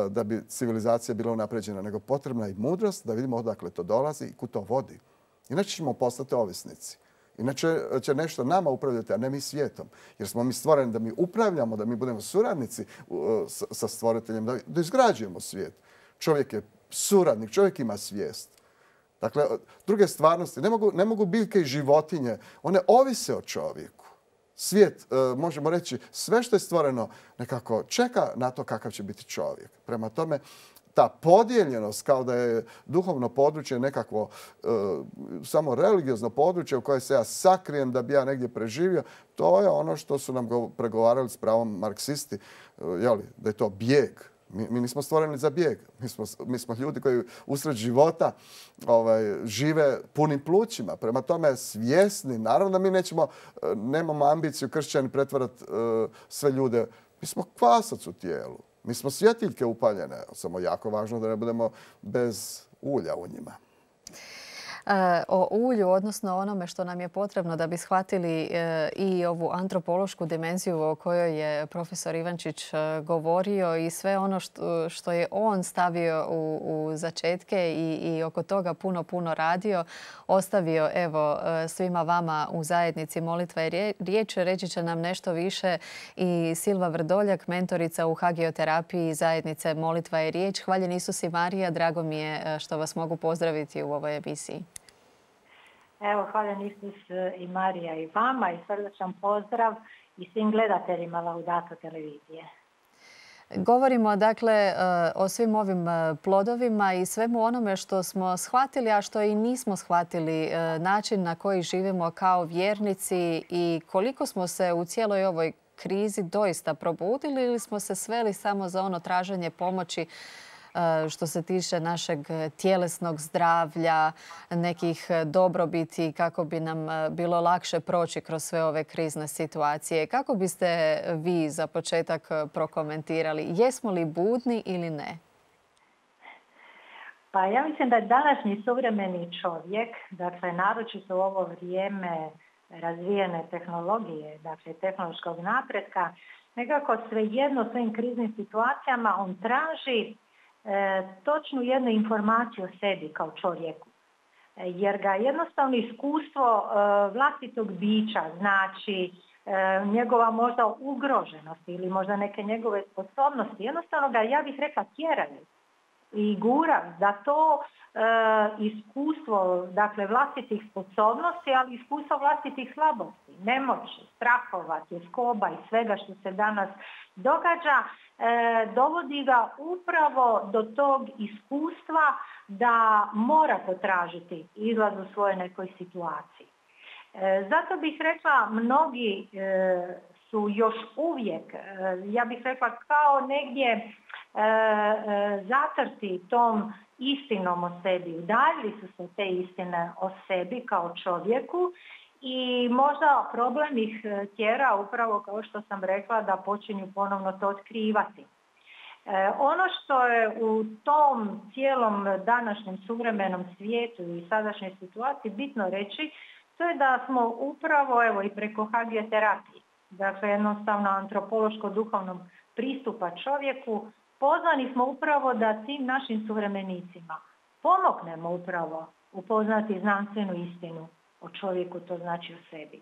da bi civilizacija bila unapređena, nego potrebna i mudrost da vidimo odakle to dolazi i kud to vodi. Inače ćemo postati ovisnici. Inače će nešto nama upravljati, a ne mi svijetom. Jer smo mi stvoreni da mi upravljamo, da mi budemo suradnici sa stvoriteljem, da izgrađujemo svijet. Čovjek je suradnik, čovjek ima svijest. Dakle, druge stvarnosti, ne mogu, ne mogu biljke i životinje, one ovise o čovjeku. Svijet, možemo reći, sve što je stvoreno nekako čeka na to kakav će biti čovjek. Prema tome, ta podijeljenost kao da je duhovno područje nekakvo e, samo religiozno područje u koje se ja sakrijem da bi ja negdje preživio, to je ono što su nam pregovarali s pravom marksisti, e, jeli, da je to bijeg. Mi, mi nismo stvoreni za bijeg. Mi smo, mi smo ljudi koji usred života ovaj, žive punim plućima. Prema tome svjesni. Naravno da mi nećemo, nemamo ambiciju kršćani pretvarati uh, sve ljude. Mi smo kvasac u tijelu. Mi smo svjetiljke upaljene. Samo jako važno da ne budemo bez ulja u njima. O ulju, odnosno onome što nam je potrebno da bi shvatili i ovu antropološku dimenziju o kojoj je profesor Ivančić govorio i sve ono što, što je on stavio u, u začetke i, i oko toga puno, puno radio, ostavio evo svima vama u zajednici Molitva i riječ. Reći će nam nešto više i Silva Vrdoljak, mentorica u hagioterapiji zajednice Molitva i riječ. Hvaljen Isus i Marija, drago mi je što vas mogu pozdraviti u ovoj emisiji. Evo, hvaljen Isus i Marija i vama i srdačan pozdrav i svim gledateljima Laudato televizije. Govorimo dakle o svim ovim plodovima i svemu onome što smo shvatili, a što i nismo shvatili, način na koji živimo kao vjernici i koliko smo se u cijeloj ovoj krizi doista probudili ili smo se sveli samo za ono traženje pomoći što se tiče našeg tjelesnog zdravlja, nekih dobrobiti kako bi nam bilo lakše proći kroz sve ove krizne situacije. Kako biste vi za početak prokomentirali? Jesmo li budni ili ne? Pa ja mislim da je današnji suvremeni čovjek, dakle naročito u ovo vrijeme razvijene tehnologije, dakle tehnološkog napretka, nekako svejedno u svojim kriznim situacijama on traži e, točnu jednu informaciju o sebi kao čovjeku. E, jer ga jednostavno iskustvo e, vlastitog bića, znači e, njegova možda ugroženost ili možda neke njegove sposobnosti, jednostavno ga, ja bih rekla, tjeraju i gura da to e, iskustvo, dakle vlastitih sposobnosti, ali iskustvo vlastitih slabosti, nemoći, strahova, tjeskoba i svega što se danas događa, e, dovodi ga upravo do tog iskustva da mora potražiti izlaz u svojoj nekoj situaciji. E, zato bih rekla, mnogi e, su još uvijek, e, ja bih rekla, kao negdje e, e, zatrti tom istinom o sebi. Udaljili su se te istine o sebi kao čovjeku i možda problem ih tjera upravo, kao što sam rekla, da počinju ponovno to otkrivati. E, ono što je u tom cijelom današnjem suvremenom svijetu i sadašnjoj situaciji bitno reći, to je da smo upravo, evo, i preko hagioterapije, dakle jednostavno antropološko-duhovnog pristupa čovjeku, pozvani smo upravo da tim našim suvremenicima pomognemo upravo upoznati znanstvenu istinu o čovjeku, to znači o sebi.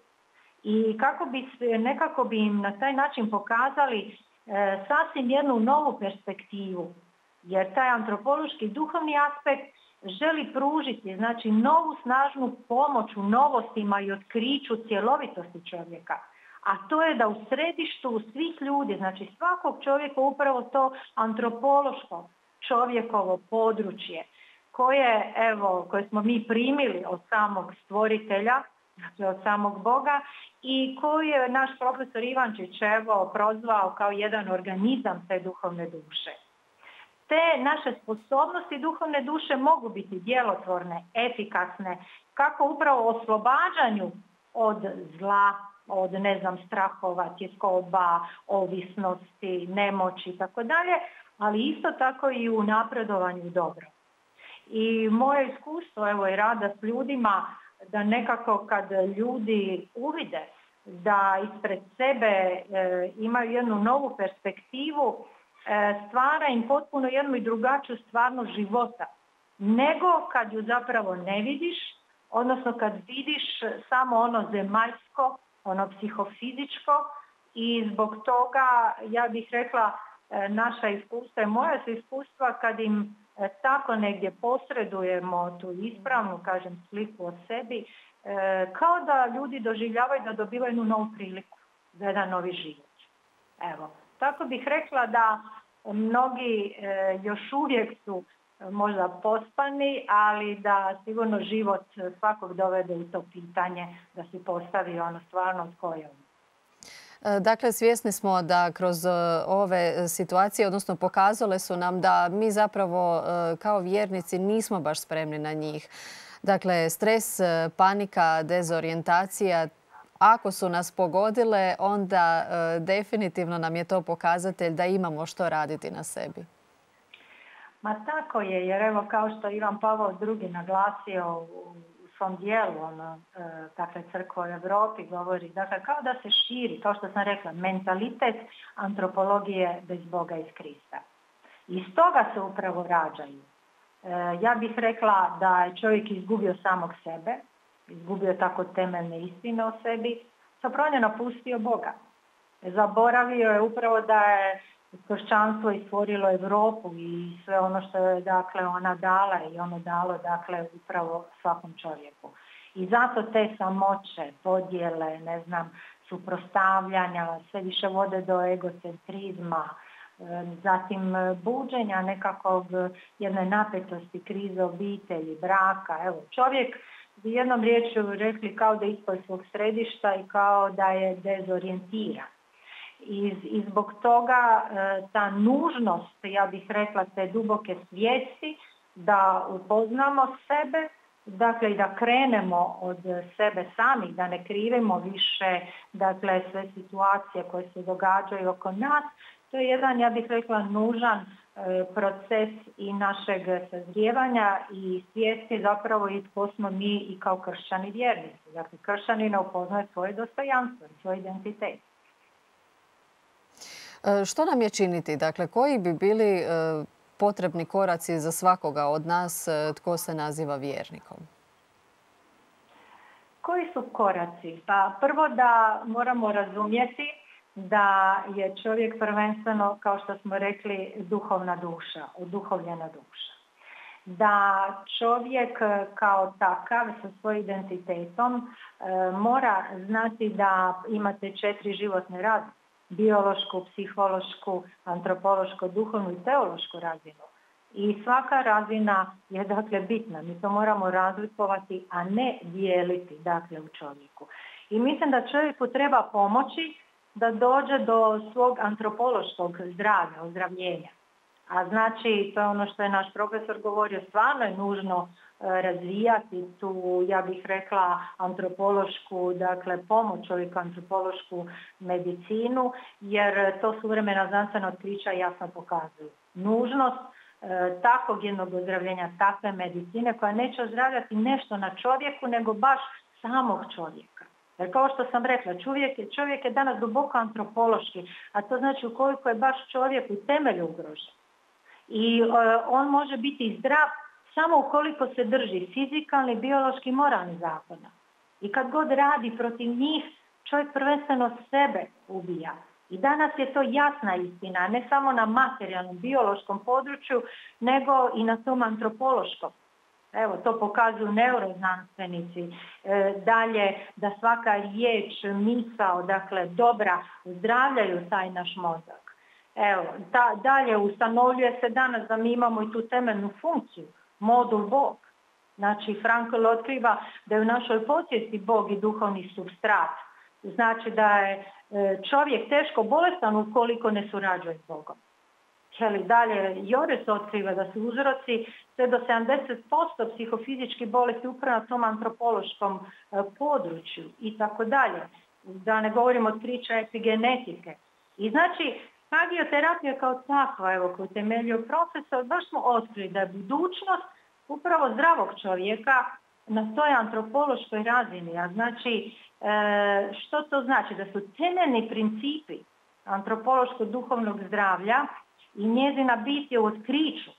I kako bi, nekako bi im na taj način pokazali e, sasvim jednu novu perspektivu, jer taj antropološki duhovni aspekt želi pružiti, znači, novu snažnu pomoć u novostima i otkriću cjelovitosti čovjeka. A to je da u središtu svih ljudi, znači svakog čovjeka, upravo to antropološko čovjekovo područje koje, evo, koje smo mi primili od samog stvoritelja, dakle od samog Boga, i koji je naš profesor Ivančić, evo, prozvao kao jedan organizam te duhovne duše. Te naše sposobnosti duhovne duše mogu biti djelotvorne, efikasne, kako upravo oslobađanju od zla, od, ne znam, strahova, tjeskoba, ovisnosti, nemoći i tako dalje, ali isto tako i u napredovanju dobro. I moje iskustvo, evo, i rada s ljudima, da nekako kad ljudi uvide da ispred sebe e, imaju jednu novu perspektivu, e, stvara im potpuno jednu i drugačiju stvarnost života, nego kad ju zapravo ne vidiš, odnosno kad vidiš samo ono zemaljsko, ono psihofizičko, i zbog toga, ja bih rekla, naša iskustva i moja su iskustva kad im tako negdje posredujemo tu ispravnu, kažem, sliku o sebi, kao da ljudi doživljavaju da dobivaju jednu novu priliku za jedan novi život. Evo, tako bih rekla da mnogi još uvijek su možda pospani, ali da sigurno život svakog dovede u to pitanje, da si postavi ono stvarno tko je on. Dakle, svjesni smo da kroz ove situacije, odnosno pokazale su nam da mi zapravo kao vjernici nismo baš spremni na njih. Dakle, stres, panika, dezorijentacija, ako su nas pogodile, onda definitivno nam je to pokazatelj da imamo što raditi na sebi. Ma tako je, jer evo, kao što Ivan Pavao drugi naglasio u svom dijelu, ono, dakle, Crkva u Europi govori, dakle, kao da se širi, kao što sam rekla, mentalitet antropologije bez Boga iz Krista. Iz toga se upravo rađaju. E, ja bih rekla da je čovjek izgubio samog sebe, izgubio tako temeljne istine o sebi, zapravo je napustio Boga. Zaboravio je upravo da je kršćanstvo je stvorilo Europu i sve ono što je, dakle, ona dala i ono dalo, dakle, upravo svakom čovjeku. I zato te samoće, podjele, ne znam, suprotstavljanja, sve više vode do egocentrizma, zatim buđenja nekakvog jedne napetosti, krize obitelji, braka. Evo, čovjek bi jednom riječju rekli kao da je ispod svog središta i kao da je dezorijentiran. I, I zbog toga ta nužnost, ja bih rekla, te duboke svijesti da upoznamo sebe, dakle i da krenemo od sebe samih, da ne krivimo više, dakle, sve situacije koje se događaju oko nas, to je jedan, ja bih rekla, nužan proces i našeg sazrijevanja i svijesti zapravo i tko smo mi i kao kršćani vjernici. Dakle, kršćanin upoznaje svoje dostojanstvo i svoj identitet. Što nam je činiti? Dakle, koji bi bili potrebni koraci za svakoga od nas tko se naziva vjernikom? Koji su koraci? Pa prvo da moramo razumjeti da je čovjek prvenstveno, kao što smo rekli, duhovna duša, oduhovljena duša. Da čovjek kao takav sa svojim identitetom e, mora znati da imate četiri životne razine. Biološku, psihološku, antropološku, duhovnu i teološku razinu. I svaka razina je dakle bitna. Mi to moramo razlikovati, a ne dijeliti dakle u čovjeku. I mislim da čovjeku treba pomoći da dođe do svog antropološkog zdravlja, ozdravljenja. A znači, to je ono što je naš profesor govorio, stvarno je nužno razvijati tu, ja bih rekla, antropološku, dakle, pomoć čovjeku, antropološku medicinu, jer to suvremena znanstvena otkrića jasno pokazuju. Nužnost e, takvog jednog ozdravljenja, takve medicine koja neće ozdravljati nešto na čovjeku, nego baš samog čovjeka. Jer kao što sam rekla, čovjek je, čovjek je danas duboko antropološki, a to znači ukoliko je baš čovjek u temelju ugrožen. I e, on može biti zdrav samo ukoliko se drži fizikalni, biološki, moralni zakona. I kad god radi protiv njih, čovjek prvenstveno sebe ubija. I danas je to jasna istina, ne samo na materijalnom, biološkom području, nego i na tom antropološkom. Evo, to pokazuju neuroznanstvenici. E, dalje, da svaka riječ, misao, dakle, dobra, zdravljaju taj naš mozak. Evo, ta, dalje, ustanovljuje se danas da mi imamo i tu temeljnu funkciju, modul Bog. Znači, Frankl otkriva da je u našoj podsvijesti Bog i duhovni supstrat. Znači da je čovjek teško bolestan ukoliko ne surađuje s Bogom. Jeli, dalje, Jores otkriva da su uzroci sve do sedamdeset posto psihofizičkih bolesti upravo na tom antropološkom području i tako dalje. Da ne govorimo otkrića epigenetike. I znači, hagioterapija kao takva, evo, koju temeljio profesor, baš smo otkrili da je budućnost upravo zdravog čovjeka na toj antropološkoj razini. A znači, e, što to znači? Da su temeljni principi antropološko-duhovnog zdravlja i njezina bit je u otkriću.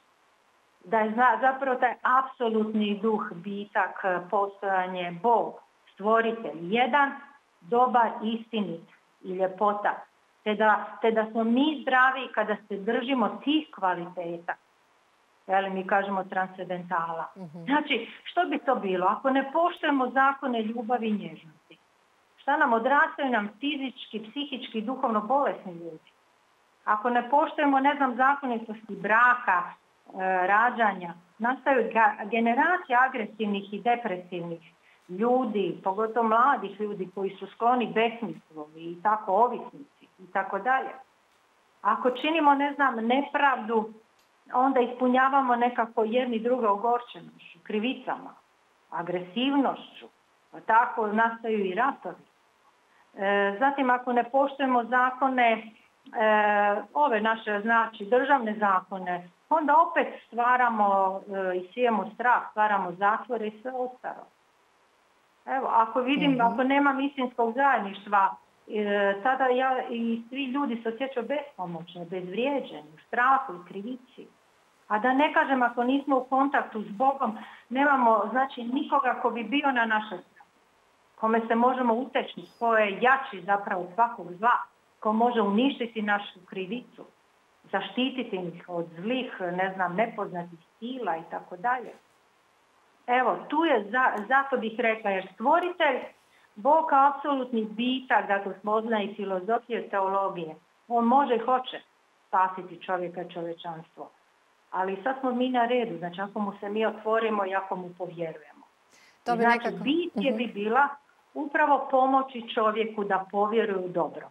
Da je zapravo taj apsolutni duh, bitak, postojanje, Bog, stvoritelj, jedan, dobar, istinit i ljepota. Te da, te da smo mi zdravi kada se držimo tih kvaliteta. Jeli, mi kažemo transcendentala. Mm-hmm. Znači, što bi to bilo? Ako ne poštujemo zakone ljubavi i nježnosti, šta nam odrastaju nam fizički, psihički, duhovno bolesni ljudi? Ako ne poštujemo, ne znam, zakonitosti braka, e, rađanja, nastaju generacije agresivnih i depresivnih ljudi, pogotovo mladih ljudi koji su skloni besmislu i tako ovisnici i tako dalje. Ako činimo, ne znam, nepravdu, onda ispunjavamo nekako jedni druga ogorčenošću, krivicama, agresivnošću, pa tako nastaju i ratovi. E, zatim, ako ne poštujemo zakone, e, ove naše, znači, državne zakone, onda opet stvaramo e, i sijemo strah, stvaramo zatvore i sve ostalo. Evo, ako vidim, mm-hmm. ako nema istinskog zajedništva, e, tada ja i svi ljudi se osjećaju bespomoćno, bezvrijeđeni, u strahu i krivici. A da ne kažem, ako nismo u kontaktu s Bogom, nemamo, znači, nikoga ko bi bio na našoj strani, kome se možemo uteći, ko je jači zapravo svakog zla, ko može uništiti našu krivicu, zaštititi ih od zlih, ne znam, nepoznatih sila i tako dalje. Evo, tu je, za, zato bih rekla, jer stvoritelj, Bog kao apsolutni bitak, dakle, spoznaje i filozofije, teologije, on može i hoće spasiti čovjeka, čovječanstvo. Ali sad smo mi na redu, znači ako mu se mi otvorimo i ako mu povjerujemo. To bi znači, nekako... bit je bi bila upravo pomoći čovjeku da povjeruje u dobro.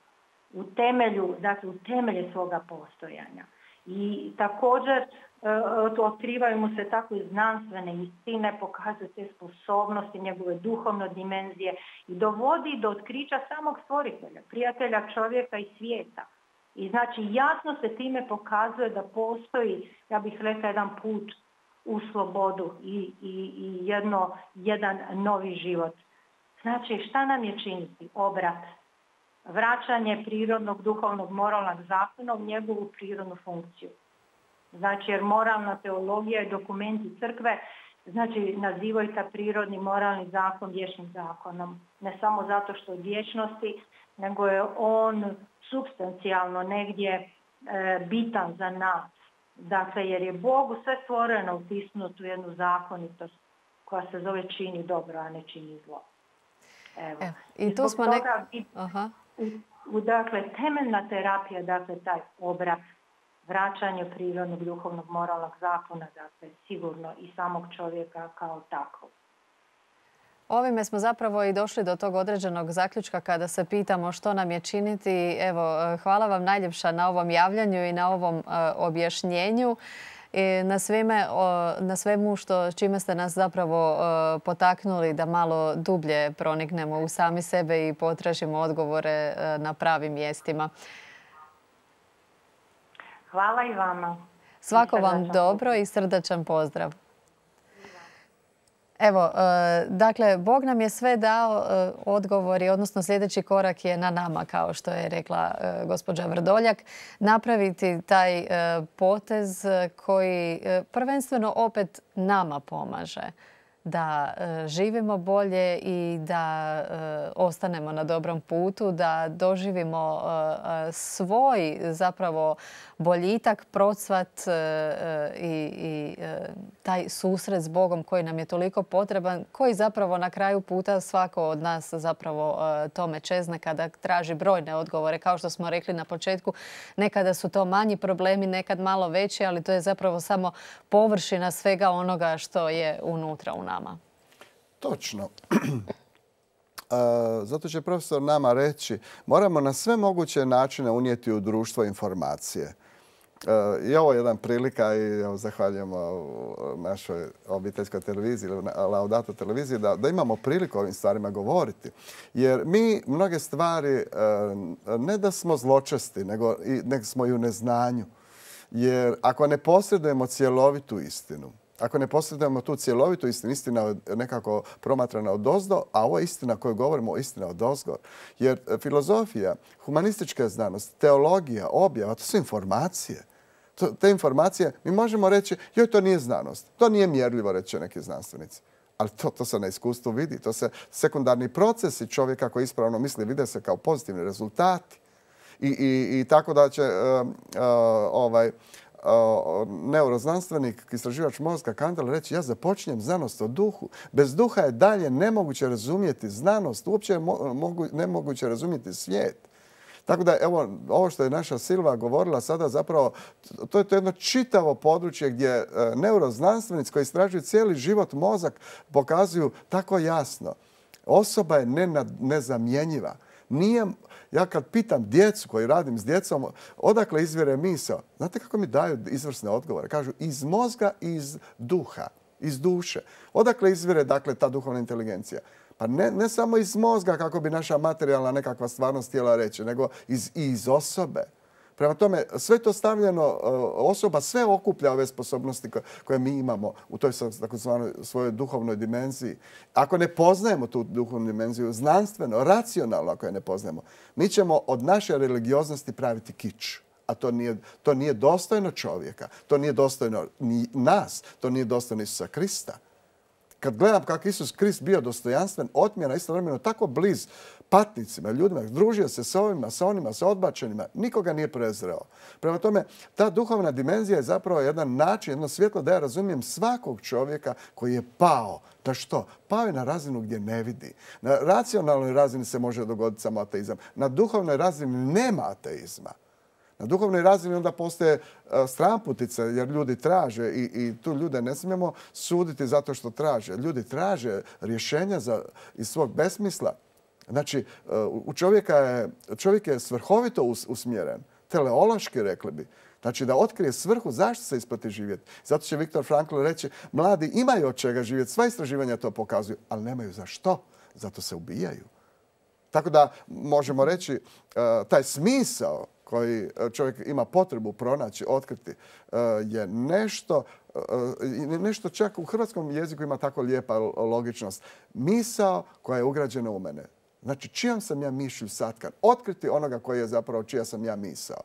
U temelju, dakle, u temelje svoga postojanja. I također uh, otkrivaju mu se tako i znanstvene istine, pokazuju te sposobnosti, njegove duhovne dimenzije i dovodi do otkrića samog stvoritelja, prijatelja čovjeka i svijeta. I znači jasno se time pokazuje da postoji, ja bih rekla, jedan put u slobodu i, i, i jedno, jedan novi život. Znači šta nam je činiti? Obrat. Vraćanje prirodnog, duhovnog, moralnog zakona u njegovu prirodnu funkciju. Znači jer moralna teologija i dokumenti crkve znači nazivaju ta prirodni moralni zakon vječnim zakonom. Ne samo zato što je vječnosti, nego je on supstancijalno negdje e, bitan za nas. Dakle, jer je Bogu sve stvoreno utisnuto u jednu zakonitost koja se zove čini dobro, a ne čini zlo. Evo. Evo. I tu smo nek... Aha. U, u, dakle, temeljna terapija, dakle, taj obrat, vraćanje prirodnog, duhovnog, moralnog zakona, dakle, sigurno i samog čovjeka kao takvog. Ovime smo zapravo i došli do tog određenog zaključka kada se pitamo što nam je činiti. Evo, hvala vam najljepša na ovom javljanju i na ovom uh, objašnjenju. I na, svime, uh, na svemu što, čime ste nas zapravo uh, potaknuli da malo dublje proniknemo u sami sebe i potražimo odgovore uh, na pravim mjestima. Hvala i vama. Svako vam dobro i srdačan pozdrav. Evo, dakle, Bog nam je sve dao odgovori, odnosno sljedeći korak je na nama, kao što je rekla gospođa Vrdoljak, napraviti taj potez koji prvenstveno opet nama pomaže da živimo bolje i da ostanemo na dobrom putu, da doživimo svoj zapravo boljitak, procvat i, i taj susret s Bogom koji nam je toliko potreban, koji zapravo na kraju puta svako od nas zapravo tome čezne kada traži brojne odgovore. Kao što smo rekli na početku, nekada su to manji problemi, nekad malo veći, ali to je zapravo samo površina svega onoga što je unutra u nama. Točno. Zato će profesor nama reći, moramo na sve moguće načine unijeti u društvo informacije. I ovo je jedan prilika i evo, zahvaljujemo našoj obiteljskoj televiziji, Laudato televiziji, da, da imamo priliku o ovim stvarima govoriti. Jer mi mnoge stvari ne da smo zločesti, nego, nego smo i u neznanju. Jer ako ne posjedujemo cjelovitu istinu, ako ne posjedujemo tu cjelovitu istinu, istina je nekako promatrana odozdo, a ovo je istina koju govorimo, istina odozgo. Jer filozofija, humanistička znanost, teologija, objava, to su informacije. To, te informacije, mi možemo reći, joj, to nije znanost. To nije mjerljivo, reći neki znanstvenici. Ali to, to se na iskustvu vidi. To se sekundarni procesi čovjeka koji ispravno misli vide se kao pozitivni rezultati. I, i, i tako da će uh, uh, ovaj, uh, neuroznanstvenik, istraživač mozga Kandel reći, ja započinjem znanost o duhu. Bez duha je dalje nemoguće razumjeti znanost, uopće je mo mogu, nemoguće razumjeti svijet. Tako da, evo, ovo što je naša Silva govorila sada, zapravo, to je to jedno čitavo područje gdje neuroznanstvenici koji istražuju cijeli život, mozak, pokazuju tako jasno. Osoba je nezamjenjiva. Nije, ja kad pitam djecu koji radim s djecom, odakle izvire misao, znate kako mi daju izvrsne odgovore? Kažu iz mozga i iz duha, iz duše. Odakle izvire, dakle, ta duhovna inteligencija? Pa ne, ne samo iz mozga kako bi naša materijalna nekakva stvarnost htjela reći, nego iz, i iz osobe. Prema tome, sve to stavljeno, osoba sve okuplja ove sposobnosti koje mi imamo u toj takozvanoj svojoj duhovnoj dimenziji. Ako ne poznajemo tu duhovnu dimenziju znanstveno, racionalno ako je ne poznajemo, mi ćemo od naše religioznosti praviti kič. A to nije, to nije dostojno čovjeka, to nije dostojno ni nas, to nije dostojno Isusa Krista. Kad gledam kako Isus Krist bio dostojanstven, otmjena, istovremeno tako bliz patnicima, ljudima, družio se s ovima, sa onima, sa odbačenima, nikoga nije prezreo. Prema tome, ta duhovna dimenzija je zapravo jedan način, jedno svjetlo da ja razumijem svakog čovjeka koji je pao. Na što? Pao je na razinu gdje ne vidi. Na racionalnoj razini se može dogoditi samo ateizam. Na duhovnoj razini nema ateizma. Na duhovnoj razini onda postoje stramputice jer ljudi traže i, i tu ljude ne smijemo suditi zato što traže. Ljudi traže rješenja za, iz svog besmisla. Znači, u čovjeka je, čovjek je svrhovito us, usmjeren, teleološki rekli bi. Znači da otkrije svrhu zašto se isplati živjeti. Zato će Viktor Frankl reći, mladi imaju od čega živjeti, sva istraživanja to pokazuju, ali nemaju za što, zato se ubijaju. Tako da možemo reći taj smisao koji čovjek ima potrebu pronaći, otkriti, je nešto, nešto čak u hrvatskom jeziku ima tako lijepa logičnost. Misao koja je ugrađena u mene. Znači, čijom sam ja mišlju satkan? Otkriti onoga koji je zapravo čija sam ja misao.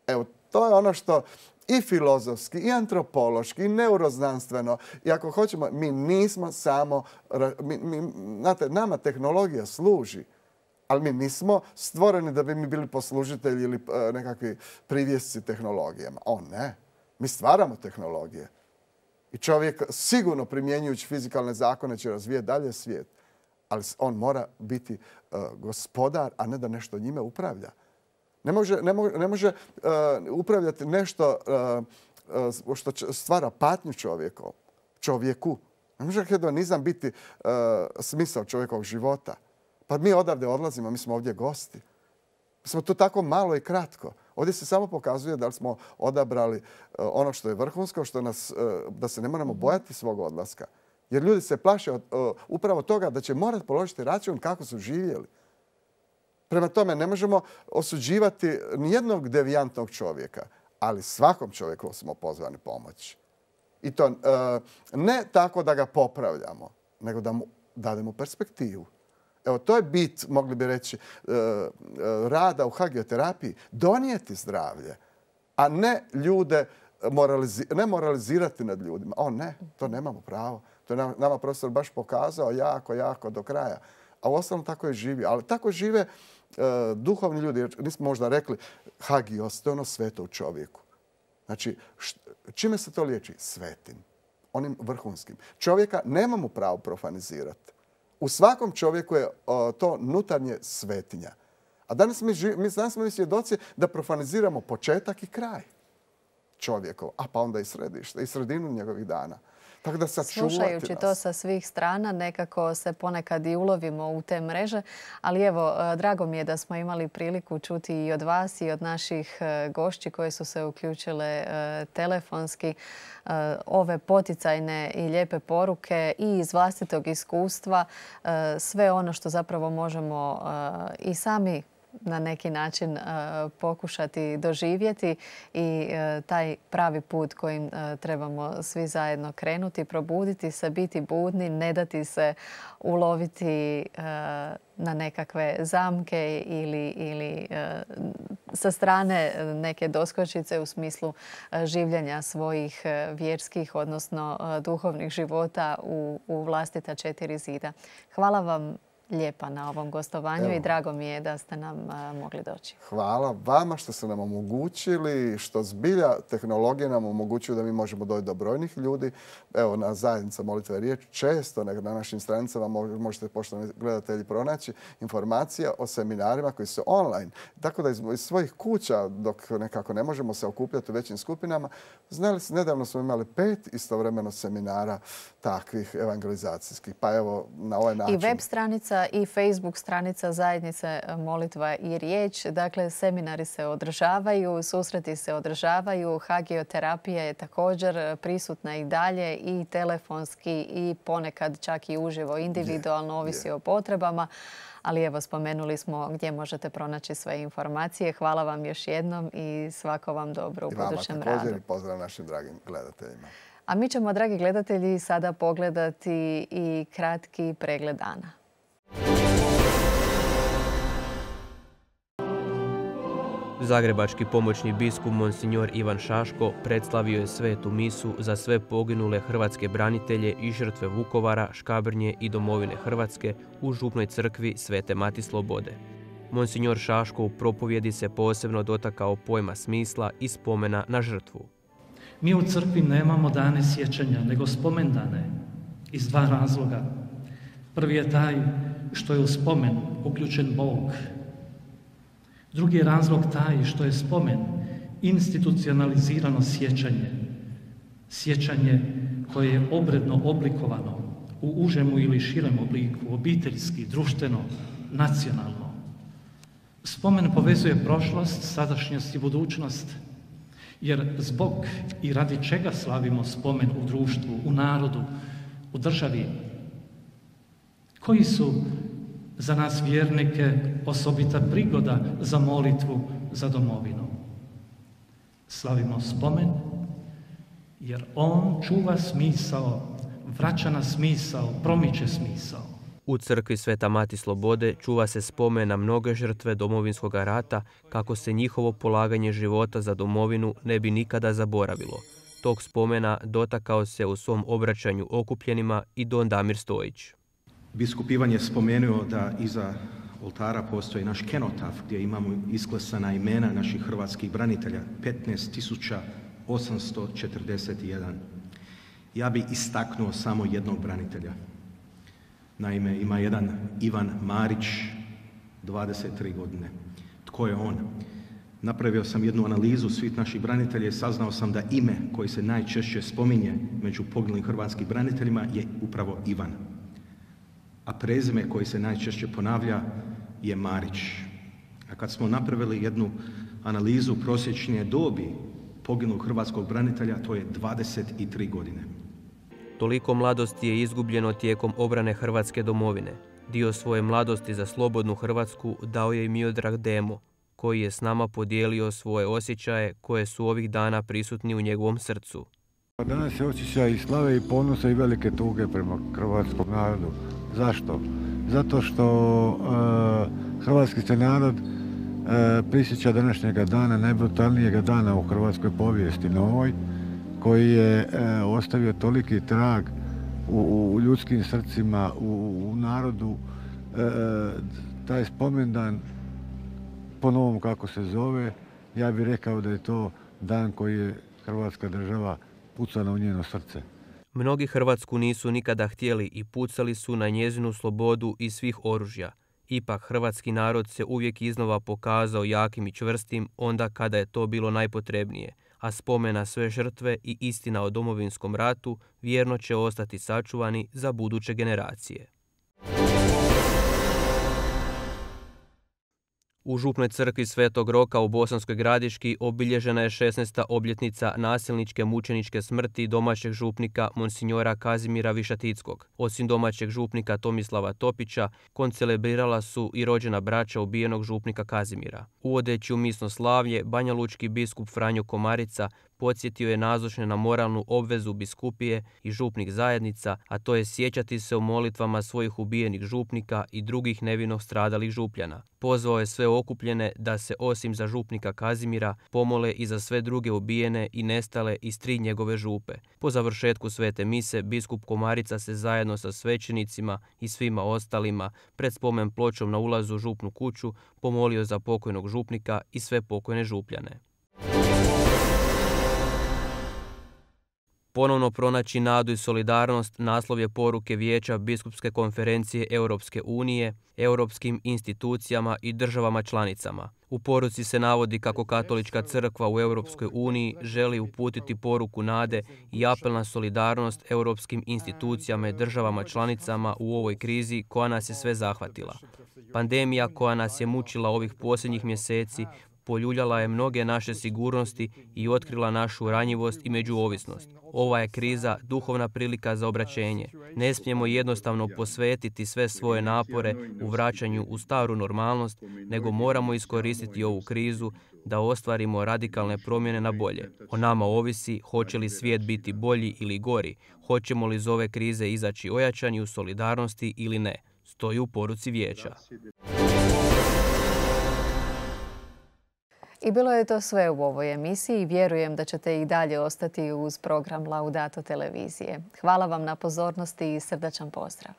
Evo, to je ono što i filozofski, i antropološki, i neuroznanstveno. I ako hoćemo, mi nismo samo... Mi, mi, znate, nama tehnologija služi, ali mi nismo stvoreni da bi mi bili poslužitelji ili nekakvi privjesci tehnologijama. O ne, mi stvaramo tehnologije. I čovjek sigurno primjenjujući fizikalne zakone će razvijeti dalje svijet. Ali on mora biti uh, gospodar, a ne da nešto njime upravlja. Ne može, ne može, ne može uh, upravljati nešto uh, uh, što stvara patnju čovjeku. čovjeku. Ne može hedonizam biti uh, smisao čovjekovog života. Pa mi odavde odlazimo, mi smo ovdje gosti. Mi smo tu tako malo i kratko. Ovdje se samo pokazuje da li smo odabrali uh, ono što je vrhunsko, što nas, uh, da se ne moramo bojati svog odlaska. Jer ljudi se plaše od, uh, upravo toga da će morati položiti račun kako su živjeli. Prema tome, ne možemo osuđivati nijednog devijantnog čovjeka, ali svakom čovjeku smo pozvani pomoći. I to uh, ne tako da ga popravljamo, nego da mu dademo perspektivu. Evo, to je bit, mogli bi reći, uh, uh, rada u hagioterapiji. Donijeti zdravlje, a ne ljude moralizi ne moralizirati nad ljudima. O ne, to nemamo pravo. To je nama profesor baš pokazao jako, jako do kraja. A u ostalom tako je živi. Ali tako žive uh, duhovni ljudi. Jer nismo možda rekli hagios, to je ono sveto u čovjeku. Znači, čime se to liječi? Svetim. Onim vrhunskim. Čovjeka nemamo pravo profanizirati. U svakom čovjeku je uh, to nutarnje svetinja. A danas mi, mi, danas smo mi svjedoci da profaniziramo početak i kraj čovjekov, a pa onda i središte, i sredinu njegovih dana. Tako da slušajući nas. to sa svih strana, nekako se ponekad i ulovimo u te mreže. Ali evo, drago mi je da smo imali priliku čuti i od vas i od naših gošći koje su se uključile telefonski ove poticajne i lijepe poruke i iz vlastitog iskustva. Sve ono što zapravo možemo i sami na neki način uh, pokušati doživjeti i uh, taj pravi put kojim uh, trebamo svi zajedno krenuti, probuditi se, biti budni, ne dati se uloviti uh, na nekakve zamke ili, ili uh, sa strane neke doskočice u smislu uh, življenja svojih uh, vjerskih, odnosno uh, duhovnih života u, u vlastita četiri zida. Hvala vam lijepa na ovom gostovanju. Evo. I drago mi je da ste nam uh, mogli doći. Hvala vama što ste nam omogućili, što zbilja tehnologija nam omogućuju da mi možemo doći do brojnih ljudi. Evo, na zajednica Molitva i riječ često na našim stranicama možete, poštovani gledatelji, pronaći informacije o seminarima koji su online. Tako da iz, iz svojih kuća, dok nekako ne možemo se okupljati u većim skupinama, znali, nedavno smo imali pet istovremeno seminara takvih evangelizacijskih. Pa evo, na ovaj način. I web stranica i Facebook stranica zajednice Molitva i riječ. Dakle, seminari se održavaju, susreti se održavaju, hagioterapija je također prisutna i dalje i telefonski i ponekad čak i uživo, individualno, ovisi je, je. o potrebama. Ali evo, spomenuli smo gdje možete pronaći sve informacije. Hvala vam još jednom i svako vam dobro u budućem radu. I vama također i pozdrav našim dragim gledateljima. A mi ćemo, dragi gledatelji, sada pogledati i kratki pregled dana. Zagrebački pomoćni biskup Monsignor Ivan Šaško predslavio je svetu misu za sve poginule hrvatske branitelje i žrtve Vukovara, Škabrnje i domovine Hrvatske u župnoj crkvi Svete Mati Slobode. Monsignor Šaško u propovjedi se posebno dotakao pojma smisla i spomena na žrtvu. Mi u crkvi nemamo dane sjećanja, nego spomendane iz dva razloga. Prvi je taj što je u spomen uključen Bog. Drugi je razlog taj što je spomen institucionalizirano sjećanje. Sjećanje koje je obredno oblikovano u užemu ili širem obliku, obiteljski, društveno, nacionalno. Spomen povezuje prošlost, sadašnjost i budućnost, jer zbog i radi čega slavimo spomen u društvu, u narodu, u državi, koji su za nas vjernike osobita prigoda za molitvu za domovinu. Slavimo spomen jer on čuva smisao, vraća na smisao, promiče smisao. U crkvi Sveta Mati Slobode čuva se spomen na mnoge žrtve Domovinskog rata kako se njihovo polaganje života za domovinu ne bi nikada zaboravilo. Tog spomena dotakao se u svom obraćanju okupljenima i don Damir Stojić. Biskup Ivan je spomenuo da iza oltara postoji naš kenotaf gdje imamo isklesana imena naših hrvatskih branitelja, petnaest tisuća osamsto četrdeset jedan. Ja bi istaknuo samo jednog branitelja. Naime, ima jedan Ivan Marić, dvadeset tri godine. Tko je on? Napravio sam jednu analizu svih naših branitelja i saznao sam da ime koji se najčešće spominje među poginulim hrvatskim braniteljima je upravo Ivan. A prezime koji se najčešće ponavlja je Marić. A kad smo napravili jednu analizu prosječne dobi poginulog hrvatskog branitelja, to je dvadeset tri godine. Toliko mladosti je izgubljeno tijekom obrane Hrvatske domovine. Dio svoje mladosti za slobodnu Hrvatsku dao je i Miodrag Demo, koji je s nama podijelio svoje osjećaje koje su ovih dana prisutni u njegovom srcu. Danas je osjećaj i slave i ponosa i velike tuge prema hrvatskom narodu. Zašto? Zato što e, hrvatski se narod e, prisjeća današnjega dana, najbrutalnijega dana u hrvatskoj povijesti novoj, koji je e, ostavio toliki trag u, u ljudskim srcima, u, u narodu. E, taj spomendan, po novom kako se zove, ja bih rekao da je to dan koji je Hrvatska država pucana u njeno srce. Mnogi Hrvatsku nisu nikada htjeli i pucali su na njezinu slobodu i svih oružja. Ipak hrvatski narod se uvijek iznova pokazao jakim i čvrstim onda kada je to bilo najpotrebnije, a spomen na sve žrtve i istina o Domovinskom ratu vjerno će ostati sačuvani za buduće generacije. U Župnoj crkvi Svetog Roka u Bosanskoj Gradiški obilježena je šesnaesta obljetnica nasilničke mučeničke smrti domaćeg župnika monsinjora Kazimira Višatickog. Osim domaćeg župnika Tomislava Topića, koncelebrirala su i rođena braća ubijenog župnika Kazimira. Uvodeći u misno slavlje, banjalučki biskup Franjo Komarica podsjetio je nazočne na moralnu obvezu biskupije i župnih zajednica, a to je sjećati se o molitvama svojih ubijenih župnika i drugih nevino stradalih župljana. Pozvao je sve okupljene da se osim za župnika Kazimira pomole i za sve druge ubijene i nestale iz tri njegove župe. Po završetku svete mise, biskup Komarica se zajedno sa svećenicima i svima ostalima pred spomen pločom na ulazu u župnu kuću pomolio za pokojnog župnika i sve pokojne župljane. Ponovno pronaći nadu i solidarnost naslov je poruke Vijeća Biskupske konferencije Europske unije, europskim institucijama i državama članicama. U poruci se navodi kako Katolička crkva u Europskoj uniji želi uputiti poruku nade i apel na solidarnost europskim institucijama i državama članicama u ovoj krizi koja nas je sve zahvatila. Pandemija koja nas je mučila ovih posljednjih mjeseci poljuljala je mnoge naše sigurnosti i otkrila našu ranjivost i međuovisnost. Ova je kriza duhovna prilika za obraćenje. Ne smijemo jednostavno posvetiti sve svoje napore u vraćanju u staru normalnost, nego moramo iskoristiti ovu krizu da ostvarimo radikalne promjene na bolje. O nama ovisi hoće li svijet biti bolji ili gori, hoćemo li iz ove krize izaći ojačani u solidarnosti ili ne, stoji u poruci Vijeća. I bilo je to sve u ovoj emisiji. Vjerujem da ćete i dalje ostati uz program Laudato televizije. Hvala vam na pozornosti i srdačan pozdrav.